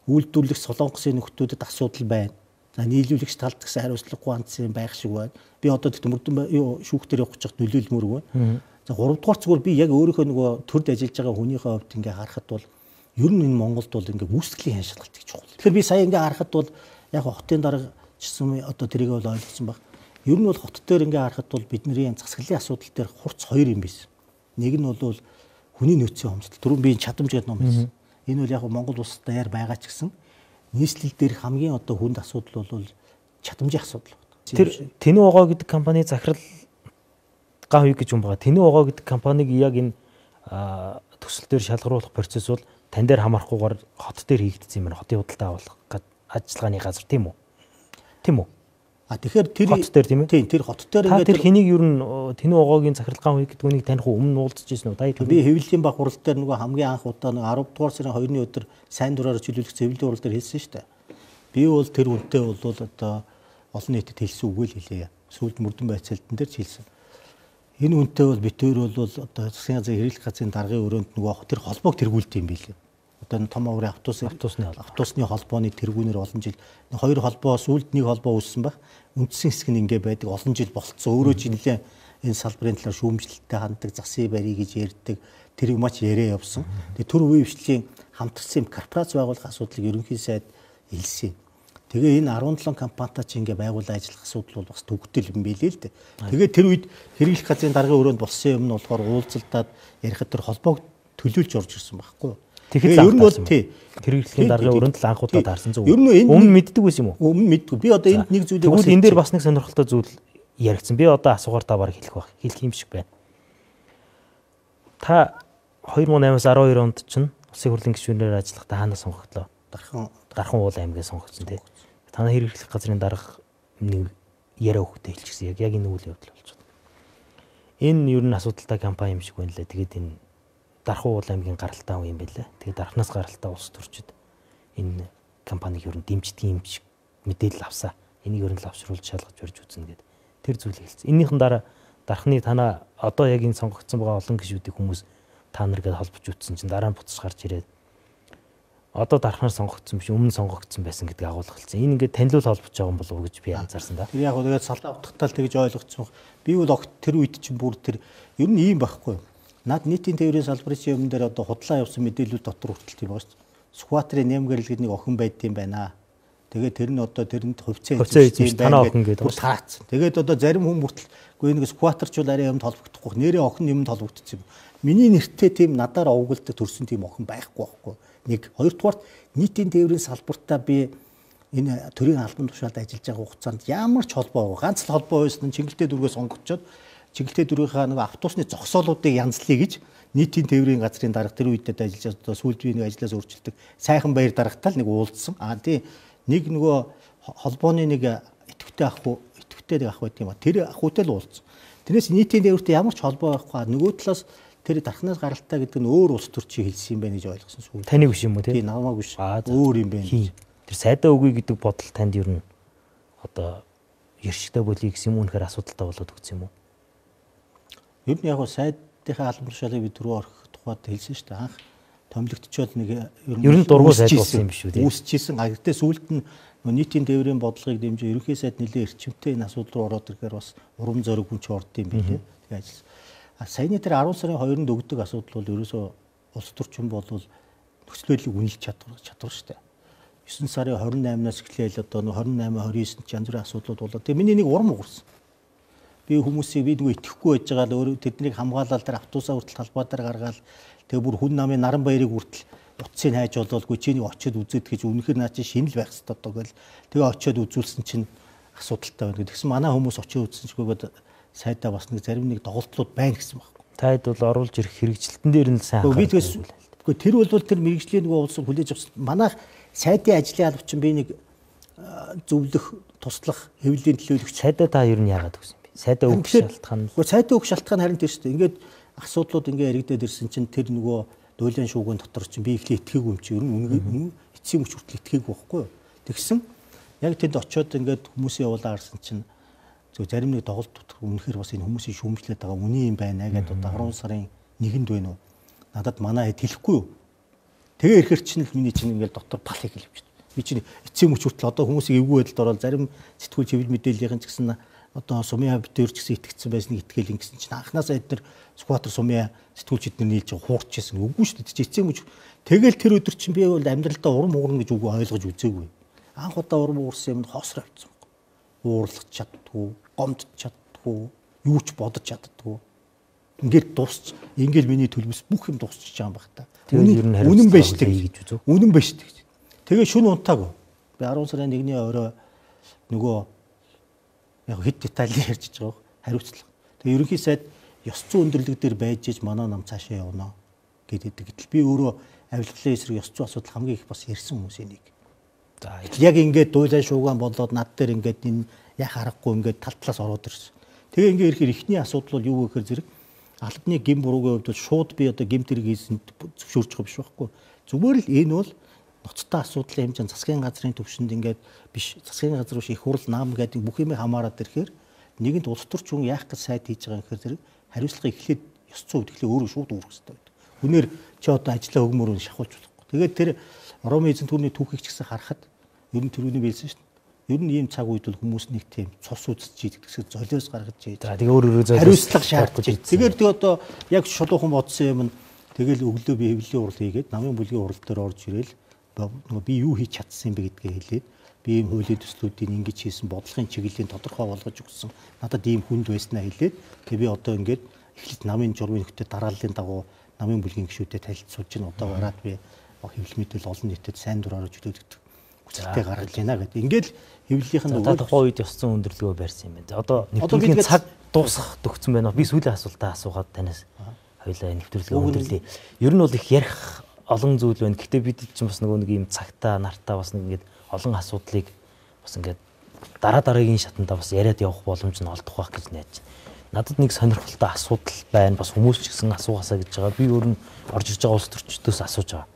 үйлдвэрлэх Солонгосын нөхдүүдэд асуудал байна. За нийлүүлэгч талд гэсэн хариуцлагагүй анцсан байх шиг байна. Би одоо мөрдөн шүүх дээр явах гэж нөлөөлмөр байна. За 3 дугаар зүгээр би яг өөрийнхөө нөгөө төрд ажиллаж байгаа хүнийхээ хувьд ингээ харахад бол ер нь энэ Монголд бол ингээ үүсгэлийн хяншилгалт гэж чухал. Тэгэхээр би сая ингээ харахад бол яг хотын дарга чсэн одоо тэрийг бол ойлгосон баг. Ер нь бол хот дээр ингээ харахад бол бидний засаглалын асуудал дээр хурц 2 юм биш. Нэг нь бол хүний нөөцийн хомсдол. Түрүүн би чадамж гэдэг ном байсан. Энэ бол яг Монгол улс даяар байгаа ч гэсэн нийслэл дээр хамгийн одоо хүнд асуудал бол чадамжийн асуудал. Тэр Тэнүү огоо гэдэг компани захирал гав гэж юм байгаа. Тэнүү огоо гэдэг компаниг яг энэ төсөл дээр шалгаруулах процесс бол тань дээр хамаарахгүйгээр хот дээр хийгдсэн юм байна. Хотын худалдаа авах ажиллагааны газар тийм үү? Тийм үү? А тэгэхээр тэр хот дээр тийм ээ? Тийм тэр хот дээр ингээд тэр хэнийг ер нь Тэнүү огоогийн захирал гав гэдэг үнийг таних өмнө уулзж ирсэн үү? Би хэвлэлийн баг хурал дээр нөгөө хамгийн анх удаа 10 дугаар сарын 2-ны өдөр сайн дураар чөлөөлөх хэвлэлийн хурал дээр хэлсэн шүү дээ. Би бол тэр үнтэй бол одоо олон нийтэд хэлсэн үгүй л хэлээ. Сүүлд мөрдөн байцаалтан дээр ч хэлсэн. Энэ үнтэй бол битээр бол одоо засгийн газрын хэрэглэх газрын даргын өрөөнд нөгөө тэр холбоог тэргүүлдэг юм билээ. Одоо энэ том аврын автобусны холбооны тэргүүнээр олон жил хоёр холбоо сүүлд нэг холбоо үүссэн баг. Үндсэн хэсэг нь ингээ байдаг олон жил болцсон. Өөрөө ч нэлээ энэ салбарын талаар шүүмжлэлтэй ханддаг, засгийн барий гэж ярьдаг. Тэр юмач яриа явсан. Тэгээ төр үе хвшлийн хамтарсан корпорац байгуулах асуудлыг ерөнхий сайд хэлсэн. Тэгээ энэ 17 компанитай чи ингээ байгуулан ажиллах асуудал бол бас төгтөл юм билээ л дээ. Тэгээ тэр үед хэрэглэх газрын даргын өрөөнд болсон юм нь болохоор уулзалтад ярихад тэр холбоог төлөөлж орж ирсэн байхгүй юу? Тэгэхээр ер нь бол хэрэглэхийн даргын өрөөнд л анх удаа таарсан зөв. Өмнө мэддэг байсан юм уу? Өмнө мэддэг. Би одоо энд нэг зүйлийг бас энэ дээр бас нэг сонирхолтой зүйл яригдсан. Би одоо асуугаар та бараг хэлэх юм шиг байна. Та 2008-аас 12 онд чинь улсын хурлын гишүүнээр ажиллахдаа хаанаас сонгогдлоо? Дархан уул аймгаас сонгогдсон тий. Танай хэрэглэх газрын дарга нэг яриа өгөхтэй хэлчихсэн. Яг энэ үйл явдал болж байна. Энэ ер нь асуудалтай компани юм шиг байна лээ. Тэгээд энэ Дархан уул аймгийн гаралтай юм байлаа. Тэгээд дархнаас гаралтай улс төрчид энэ компаниг ер нь дэмждэг юм шиг мэдээлэл авсаа. Энийг ер нь лавшруулж шалгаж барьж үзнэ гэдэг. Тэр зүйлийг хэлсэн. Энийхэн дараа дархны танаа одоо яг энэ сонгогдсон байгаа олон гишүүдийн хүмүүс та нар гэдээ холбож үтсэн чинь дараа нь буцаж гарч ирээд одоо дархнаар сонгогдсон биш өмнө сонгогдсон байсан гэдгийг агуулга хэлсэн. Энэ ингээд танилуул холбож байгаа юм болов уу гэж би анзаарсан да. Тэр яг тэгээд салдаа утгатал тэгж ойлгоцсон. Би бол тэр үед чинь бүр тэр ер нь ийм байхгүй. Наад нийтийн тээврийн салбарын юм дээр одоо худлаа явсан мэдээлүүд дотор хүртэл тийм байгаа шүү дээ. Скватрын нэмгэрэл гэдэг нэг охин байд юм байна. Тэгээд тэр нь одоо тэрэнд хувьцаа эзэмшсэн танаа охин гэдэг таацсан. Тэгээд одоо зарим хүн бүртэл үгүй нэг скватерчуул арай юмд холбогдохгүй. Нэрээ охин юмд холбогдсон юм. Миний нэртэй тийм надаар овгөлдөг төрсэн тийм охин байхгүй байхгүй. Нэг хоёрдугаар нийтийн тээврийн салбартаа би энэ төрийн албан тушаалд ажиллаж байгаа хугацаанд ямар ч холбоо ганц л холбоо байсан нь Чингэлтэй дүүргээс сонгогдоод Чингэлтэй дүүргийнхаа нэг автобусны зогсоолуудыг янзлая гэж нийтийн тээврийн газрын дарга тэр үедээ ажиллаж одоо сүүлд би нэг ажлаас өөрчлөлтөг сайхан баяр даргатай л нэг уулзсан. Тийм нэг нөгөө холбооны нэг идэвхтэй ах байдаг юм а. Тэр ахуйтай л уулзсан. Тэрнээс нийтийн тээвртэй ямар ч холбоо байхгүй. Нөгөө талаас тэр дархнаас гаралтай гэдэг нь өөр улс төрчийг хэлсэн юм байна гэж ойлгосон сүүл. Таны биш юм уу тийм? Тийм намаагүй биш. Өөр юм байна. Тэр сайдаа үгүй гэдэг бодол танд ер нь одоо ершигтэй болъё гэсэн юм үнэхээр асуудалтай болоод өгсөн юм уу? Ер нь яг сайдынхаа албан тушаалыг би түрүү орох тухайд хэлсэн шүү дээ. Анх томилогдчиход нэг ер нь дургуй сайд болсон юм биш үү тийм? Үүсчихсэн. Гэхдээ сүүлд нь нийтийн тээврийн бодлогыг дэмжиж ерөнхий сайд нэлээд эрчимтэй энэ асуудал руу ороод ирэхээр бас урам зориг хүн ч орд юм билээ. Тэгээ ажилласан. Саяны тэр 10 сарын 2-нд өгдөг асуудал бол ерөөсөө улс төрчин болвол нөхцөл байдлыг үнэлж чадвар шүү дээ. 9 сарын 28-наас эхлээл одоо 28-29-нд янз бүрийн асуудлууд болоо. Тэгээ миний нэг урам уурсан. Би хүмүүсийг би нөгөө итгэхгүй байж байгаа л өөрөө тэднийг хамгаалал тэр автобусаа хүртэл талбай дээр гаргаад тэгээ бүр хүн намын наран баярыг хүртэл утсыг хайж болоолгүй чиний очиод үзээд гэж үнэхээр наа чи шинэл байх хэрэгтэй одоо гэл тэгээ очиод үзүүлсэн чинь асуудалтай байна. Тэгсэн манай хүмүүс очиод үзсэн чигөөд сайдаа бас нэг зарим нэг доголдлууд байна гэсэн байхгүй. Таад бол оруулж ирэх хэрэгжилтэн дээр нь сайн анхаарах. Би тэгээс тэр бол тэр мэрэгжлийн нөгөө улс хүлээж авсан. Манайх сайдын ажлын алба чинь би нэг зөвлөх, туслах, хэвлэлийн төлөөлөгч. Сайдаа та ер нь яагаад өгсөн бэ? Сайдаа өгөх шалтгаан. Гэхдээ сайдаа өгөх шалтгаан харин тэр шүү дээ. Ингээд асуудлууд ингээ яригдаад ирсэн чинь тэр нөгөө дуулын шуугын дотор чинь би ихлэ итгээгүй юм чи ер нь эцсийн мөч хүртэл итгээгүй байхгүй юу. Тэгсэн яг тэнд очиод ингээд хүмүүсийн явуулаа харсан чинь зөв зарим нэг доголд дотор үнэхээр бас энэ хүмүүсийн шүүмжлээд байгаа үний юм байна гэдэг одоо 10 сарын 1-нд байна уу? Надад манай хэд хэлэхгүй юу? Тэгээ ирэхэр чинь л миний чинь ингээд дотор пал хэлж байна. Би чинь эцсийн мөч хүртэл одоо хүмүүсийг эвгүй байдалд ороод зарим сэтгүүл чивэл мэдээллийн ч гэсэн одоо сумья битээр ч гэсэн итгэцсэн байсныг итгэл ингэсэн чинь анханасаа эдгээр скватер сумья сэтгүүлчид нар нийлж хуурчсэн. Үгүй шүү дээ. Эцсийн мөч тэгэл тэр өдөр чинь би бол амьдралдаа урам уурна гэж үгүй ойлгож үзээгүй. Анх удаа урам уурсан юмд хоосроо авчихсан. Уурлах чаддгүй, гомдч чаддгүй, юу ч бодож чаддгүй. Ингээд дуусч, ингээд миний төлөвс бүх юм дуусчих байгаа юм баг та. Үнэн байж тээ гэж үзв. Үнэн байж тээ. Тэгээ шүн унтаагүй. Би 10 сарын 1-ний орой нөгөө яг хэд детальны ярьж байгаа хариуцлага. Тэгээ ерөнхий сайд ёс зүйн өндөрлөг дээр байж иж манай нам цаашаа явна гэдэг. Гэтэл би өөрөө авилгалын эсрэг ёс зүйн асуудал хамгийн их бас ярьсан хүмүүсийн нэг. За яг ингээд дуйлан шуугаан болоод над дээр ингээд энэ яг харахгүй ингээд тал талаас ороод ирсэн. Тэгээ ингээд ирэхээр ихний асуудал бол юу гэхээр зэрэг албаны гин буруугийн хувьд бол шууд би одоо гимт хэрэг хийсэн зөвшөөрч байгаа биш байхгүй. Зүгээр л энэ бол ноцтой асуудлын хэмжээнд засгийн газрын төвшөнд ингээд биш засгийн газар биш их хурл наам гэдэг бүх юмыг хамаарад ирэхээр нэгэнд улс төрч хүн яах гэж сайд хийж байгаа юм гэхээр зэрэг хариуцлага эхлээд ёс зүйн үтгэлээ өөрөө шууд үүрэх хэрэгтэй байдаг. Хүнээр чи одоо ажиллаа өгмөрөөр шахуулж болохгүй. Тэгээд тэр Роми эзэн түүний түүхийг ч гэсэн харахад ер нь тэрүүний биелсэн шүү дээ. Ер нь ийм цаг үед бол хүмүүс нэг тийм цус үзэж идэгсээ золиос гаргаж ийж. За тэгээ өөр хариуцлага шаардж байна. Тэгэхээр тэг одоо яг шулуухан бодсон юм нь тэгэл өглөө би хэвлэлийн урал хийгээд намын бүлгийн урал дээр орж ирэл би юу хийж чадсан юм бэ гэдгээ хэлээд би ийм хуулийн төслүүдийн ингэж хийсэн бодлогын чиглэлийн тодорхой болгож өгсөн. Надад ийм хүнд байснаа хэлээд тэг би одоо ингээд эхлээд намын журмын нөхдөд дарааллын дагуу намын бүлгийн гишүүдэд танилцуулж байна. Одоо гараад би хэвлэл мэдээлэл олон нийтэд сайн дураараа чөлөөлөгдөх хүсэлтэй гаргаж байна гэдэг. Ингээд хэвлэлийнх нь тухайн үед ёс зүйн өндөрлөгөө барьсан юм байна. Одоо нэвтрүүлгийн цаг дуусах төгссөн байна. Би сүүлийн асуултаа асуугаад танаас хоёлаа нэвтрүүлгээ өндөрлөе. Ер нь бол их ярих олон зүйл байна. Гэхдээ бид чинь бас нөгөө нэг юм цагтаа нартаа бас нэг ингээд олон асуудлыг бас ингээд дараагийн шатандаа бас яриад явах боломж нь олдох байх гэж найдаж байна. Надад нэг сонирхолтой асуудал байна. Бас хүмүүс ч гэсэн асуугаасаа гэж байгаа. Би өөр нь орж ирж байгаа улс төрчдөөс асууж байгаа.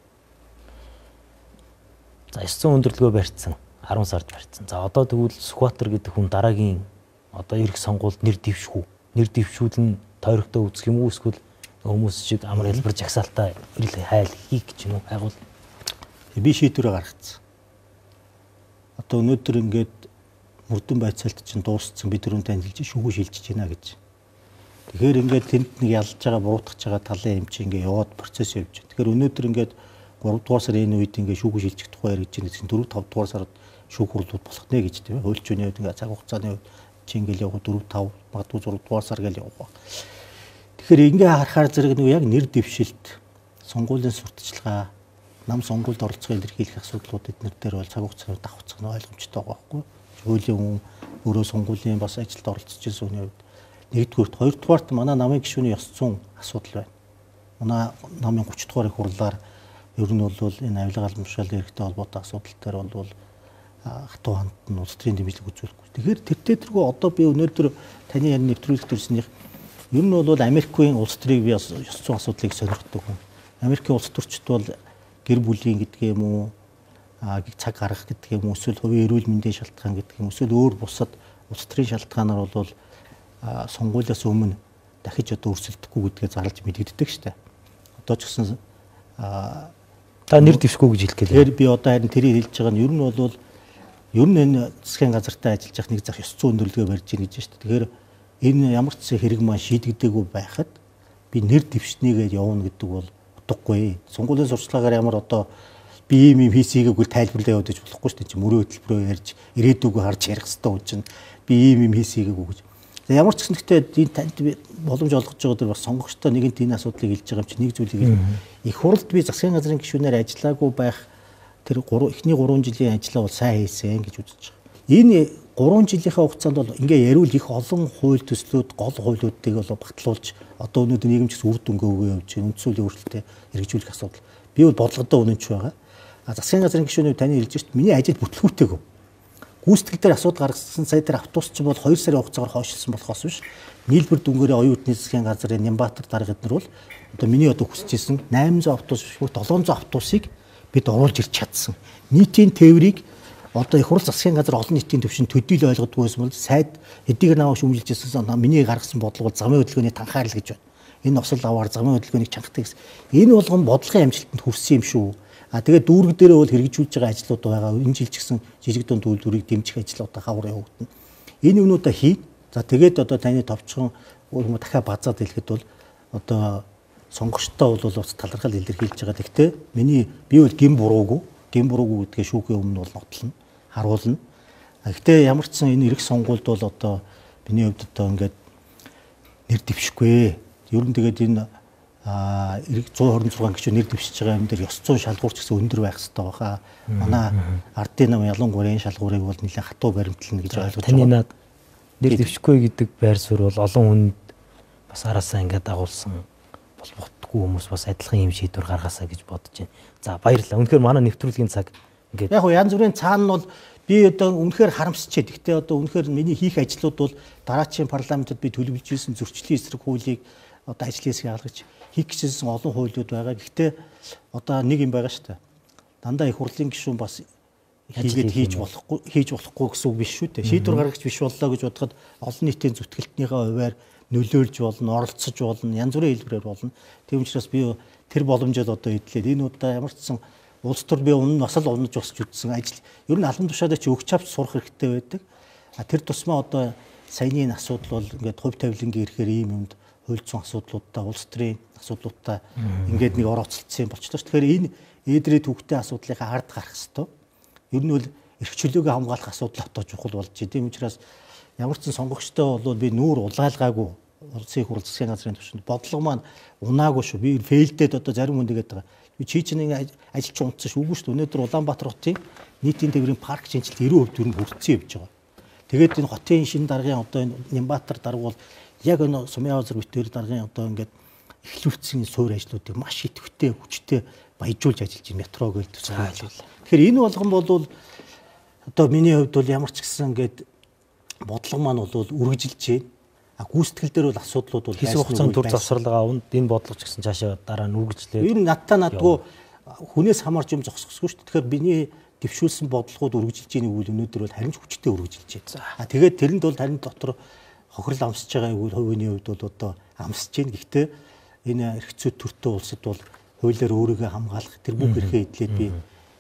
За 900 өндөрлөгөө барьцсан 10 сард барьцсан. За одоо тэгвэл Сүхбаатар гэдэг хүн дараагийн одоо ирэх сонгуульд нэр дэвшгүй. Нэр дэвшүүлэн тойрогтой үзэх юм уу эсвэл хүмүүс шиг амар хэлбэр жагсаалтаа ирэл хайл хийх гэж юм уу хайгуул. Би шийдвэрээ гаргацсан. Одоо өнөөдөр ингээд мөрдөн байцаалт чинь дууссан бид түрүүн танилцж шүүгүү шилжиж байна гэж. Тэгэхээр ингээд тэнд нэг ялж байгаа буруутгах байгаа талын юм чи ингээд яваад процесс явж байна. Тэгэхээр өнөөдөр ингээд 3 дугаар сарын энэ үед ингээд шүүгүү шилжих тухай яриж байгаа гэсэн 4 5 дугаар сард шүүх хурлууд болох нэ гэж тийм ээ. Хөөлчөөний үед ингээд цаг хугацааны үед чи ингээд явах 4 5 магадгүй 6 дугаар сар гэж явах баг. Тэгэхээр ингээд харахаар зэрэг нэг яг нэр дэвшилт, сонгуулийн сурталчилгаа, нам сонгуульд оролцохын илэрхийлэх асуудлууд эднэр дээр бол цаг хугацаанд давхцах нь ойлгомжтой байгаа байхгүй. Хуулийн хүн өөрөө сонгуулийн бас ажилд оролцож байсан хүний хувьд нэгдүгürt, хоёрдугаарт манай намын гишүүний ёс зүйн асуудал байна. Манай намын 30 дугаар их хурлаар ер нь бол энэ авилга алмшаал эрхтэй холбоотой асуудал дээр бол хатуу ханд нь улс төрийн дэмжлэг үзүүлэхгүй. Тэгэхээр тэртээ одоо би өнөөдөр таны ярь нэвтрүүлэгт ирсэнийх ер нь бол Америкийн улс төрийг би ёс зүйн асуудлыг сонирхдаг хүн. Америкийн улс төрчид бол гэр бүлийн гэдэг юм уу, цаг гаргах гэдэг юм уу, эсвэл хувийн эрүүл мэндийн шалтгаан гэдэг юм, эсвэл өөр бусад улс төрийн шалтгаанаар бол сонгуулиас өмнө дахиж одоо өрсөлдөхгүй гэдгээ зарлж мэдэгддэг штэ. Одоо ч гэсэн та нэр дэвшгүй гэж хэлэх гэлээ. Тэгэхээр би одоо харин тэрийг хэлж байгаа нь ер нь энэ засгийн газартаа ажиллаж явах нэг зах ёс зүйн өндөрлөгөө барьж ийн гэж штэ. Тэгэхээр энэ ямар ч хэрэг маань шийдэгдээгүй байхад би нэр дэвшнийгээд явна гэдэг бол утгагүй. Сонгуулийн сурчлагаар ямар одоо би ийм хийсийгээгүүл тайлбарлаа явуулж болохгүй шүү дээ. Чи мөрөө хөтөлбөрөөр ярьж ирээдүгөө харж ярих хэрэгтэй үучин би ийм хийсийгээгүү гэж. Ямар ч гэсэн гэхдээ танд би боломж олгож байгаа дээр бас сонгогчтой нэгэнт энэ асуудлыг хэлж байгаа юм чи нэг зүйлийг их хурлд би засгийн газрын гишүүнээр ажиллаагүй байх тэр эхний 3 жилийн ажлаа бол сайн хийсэн гэж үзэж байгаа. Энэ 3 жилийнхаа хугацаанд бол ингээ яриул их олон хууль төслүүд гол хуулиудыг бол батлуулж одоо өнөөдөр нийгэмч үр дүнгээ өгөө явж байна. Үндсүүлийн өөрчлөлтөд хэрэгжүүлэх асуудал. Би бол бодлогодоо үнэнч байгаа. Засгийн газрын гишүүнээ таны хэлж шít миний ажил бүтлгүүтэйгөө. Гүйцэтгэл дээр асуудал гаргасан сая дээр автобус ч бол 2 сарын хугацаагаар хойшилсан болохоос биш. Нийлбэр дүнгээрээ оюун утасны засгийн газрын Нямбатар дарга эднэр бол одоо миний одоо хүсэжсэн 800 автобус биш 700 автобусыг бид оруулж ирч чадсан. Нийтийн тээврийг одоо их хурл засгийн газар олон нийтийн төвшин төдийл ойлгодгүй байсан бол сайд эдгээр наваач өмжилж ирсэн миний гаргасан бодлого бол замын хөдөлгөөний танхаарл гэж байна. Энэ осол аваар замын хөдөлгөөнийг чангахдаг гэсэн. Энэ болгон бодлогын амжилтанд хүрсэн юм шүү. Тэгээд дүүрэг дээрээ бол хэрэгжүүлж байгаа ажлууд байгаа. Энэ жил ч гэсэн жижиг дунд үйлдвэрийг дэмжих ажлуудаа хавар явагдана. Энэ юмнуудаа хий. За тэгээд одоо таны товчхон өөр дахиад базаад хэлэхэд бол одоо сонгогчтой бол бас талархал илэрхийлж байгаа. Гэхдээ би бол гин буруугүй гэдгээ шүүхийн өмнө бол нотлно, харуулна. Гэхдээ ямар ч сан энэ эрх сонгуульд бол одоо миний хувьд одоо ингээд нэр дэвшгүй. Ер нь тэгээд энэ 126 гишүүн нэр дэвшиж байгаа юм дээр ёс зүйн шалгуур ч гэсэн өндөр байх хэрэгтэй байгаа. Манай ардын нам ялангуяа энэ шалгуурыг бол нэлээд хатуу баримтлана гэж ойлгож байгаа. Таны над нэр дэвшгүй гэдэг байр суурь бол олон хүнд бас араасаа ингээд дагуулсан болбогдгүй хүмүүс бас адилхан юм шийдвэр гаргасаа гэж бодож байна. За баярлалаа. Үнэхээр манай нэвтрүүлгийн цаг ингээд яг янз бүрийн цаана нь бол би одоо үнэхээр харамсчээ. Гэхдээ одоо үнэхээр миний хийх ажлууд бол дараачийн парламентод би төлөвлөж ирсэн зөрчлийн эсрэг хуулийг одоо ажлын хэсгийг алгаж хийх гэсэн олон хуулиуд байгаа. Гэхдээ одоо нэг юм байгаа шүү дээ. Дандаа их хурлын гишүүн бас хийгээд хийж болохгүй гэсэн үг биш шүү дээ. Шийдвэр гаргагч биш боллоо гэж бодоход олон нийтийн зүтгэлтнийхээ хувьар нөлөөлж болно, оролцож болно, янз бүрийн хэлбэрээр болно. Тийм учраас би тэр боломжоор одоо эдлээд энэ удаа ямар ч сан улс төр би өмнө бас л унаж босч үтсэн ажил ер нь албан тушаалаа чи өгч авч сурах хэрэгтэй байдаг. Тэр тусмаа одоо саяны асуудал бол ингээд хувь тавилангийн ирэхээр ийм юмд хуульцсан асуудлуудтай, улс төрийн асуудлуудтай ингээд нэг орооцолцсон болчихлоо. Тэгэхээр энэ ээдрээ төвхтэй асуудлынхаа ард гарах хэрэгтэй. Ер нь бол эрх чөлөөг хамгаалах асуудал отоо чухал болж байна. Тийм учраас ямар ч сонгогчтой бол би нүүр улаалгаагүй улсын их хурл засгийн газрын түвшинд бодлого маань унаагүй шүү. Би фейлдээд одоо зарим хүн нэгээд байгаа. Би чийчний ажилч унтсан шүү. Үгүй шүү. Өнөөдөр Улаанбаатар хотын нийтийн тээврийн парк шинжилт 90% төгрөг хүрсэн явж байгаа. Тэгээд энэ хотын шинэ даргын одоо энэ Нямбатар дарга бол яг энэ Сумын озер битээр даргын одоо ингээд эхлүүлсэн суур ажлуудыг маш идэвхтэй хүчтэй баяжуулж ажиллаж байна. Метро гэлд цаашаа. Тэгэхээр энэ болгон бол одоо миний хувьд бол ямар ч гэсэн ингээд бодлого маань бол үргэлжилж байна. Гүйцэтгэл дээр бол асуудлууд бол хэсэг хугацаанд төр завсралгаа авна. Энэ бодлого ч гэсэн цаашаа дараа нь үргэлжлээд. Ер нь надгүй хүнээс хамаарч юм зогсохгүй шүү дээ. Тэгэхээр биний дэвшүүлсэн бодлогууд үргэлжилж байгааг үйл өнөөдөр бол харин ч хүчтэй үргэлжилж байна. Тэгээд тэрэнд бол харин дотор хохирол амсж байгаа үйл хувийн хувьд бол одоо амсж байна. Гэхдээ энэ эрхцүүд төртөө улсад бол хуулиар өөрийгөө хамгаалах тэр бүх эрхээ эдлээд би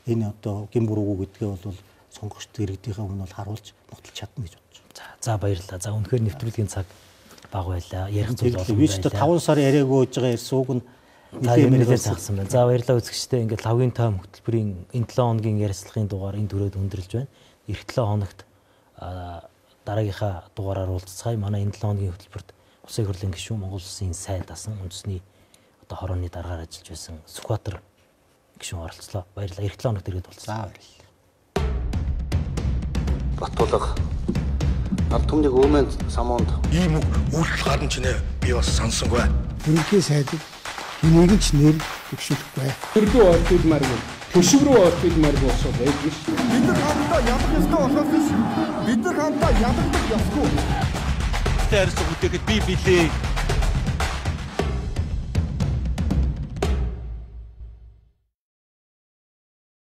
энэ одоо гин буруугүй гэдгээ бол сонгогчд иргэдийнхээ өмнө бол харуулж нотолж чадна гэж бодож байна. За баярлалаа. За үнэхээр нэвтрүүлгийн цаг бага байлаа. Ярих зүйл олон байлаа. 5 сар яриаггүй гэж байгаа ярьсан үг нь нэлээд загсан байна. За баярлалаа үзэгчдээ. Ингээд лавгийн таам хөтөлбөрийн энэ 7 хоногийн ярилцлагын дугаар энэ төрөд өндөрлж байна. Эх 7 хоногт дараагийнхаа дугаараар уулзцгаая. Манай энэ 7 хоногийн хөтөлбөрт Улсын их хурлын гишүүн Монгол Улсын сайд асан үндэсний одоо хорооны даргаар ажиллаж байсан Сүхбаатар гишүүн оролцлоо. Баярлалаа. Эх 7 хоногт ирээд болцсон. За баярлалаа. Батулга ард түмний өвмэн самуунд Ийм үг үйлдэл гарна ч нэ би бас сансангүй. Ерөнхий сайдыг энийг ч нэр төвшөлөхгүй. Төрлөө орчуулмааргүй. Төшөв рүү орчуулмааргүй болсоо байдаг шүү. Бид нар хамтдаа ядах ёстой болохоос биш. Бид нар хамтдаа ядагдах ёсгүй. Тэ харьцах үетэйг би билээ.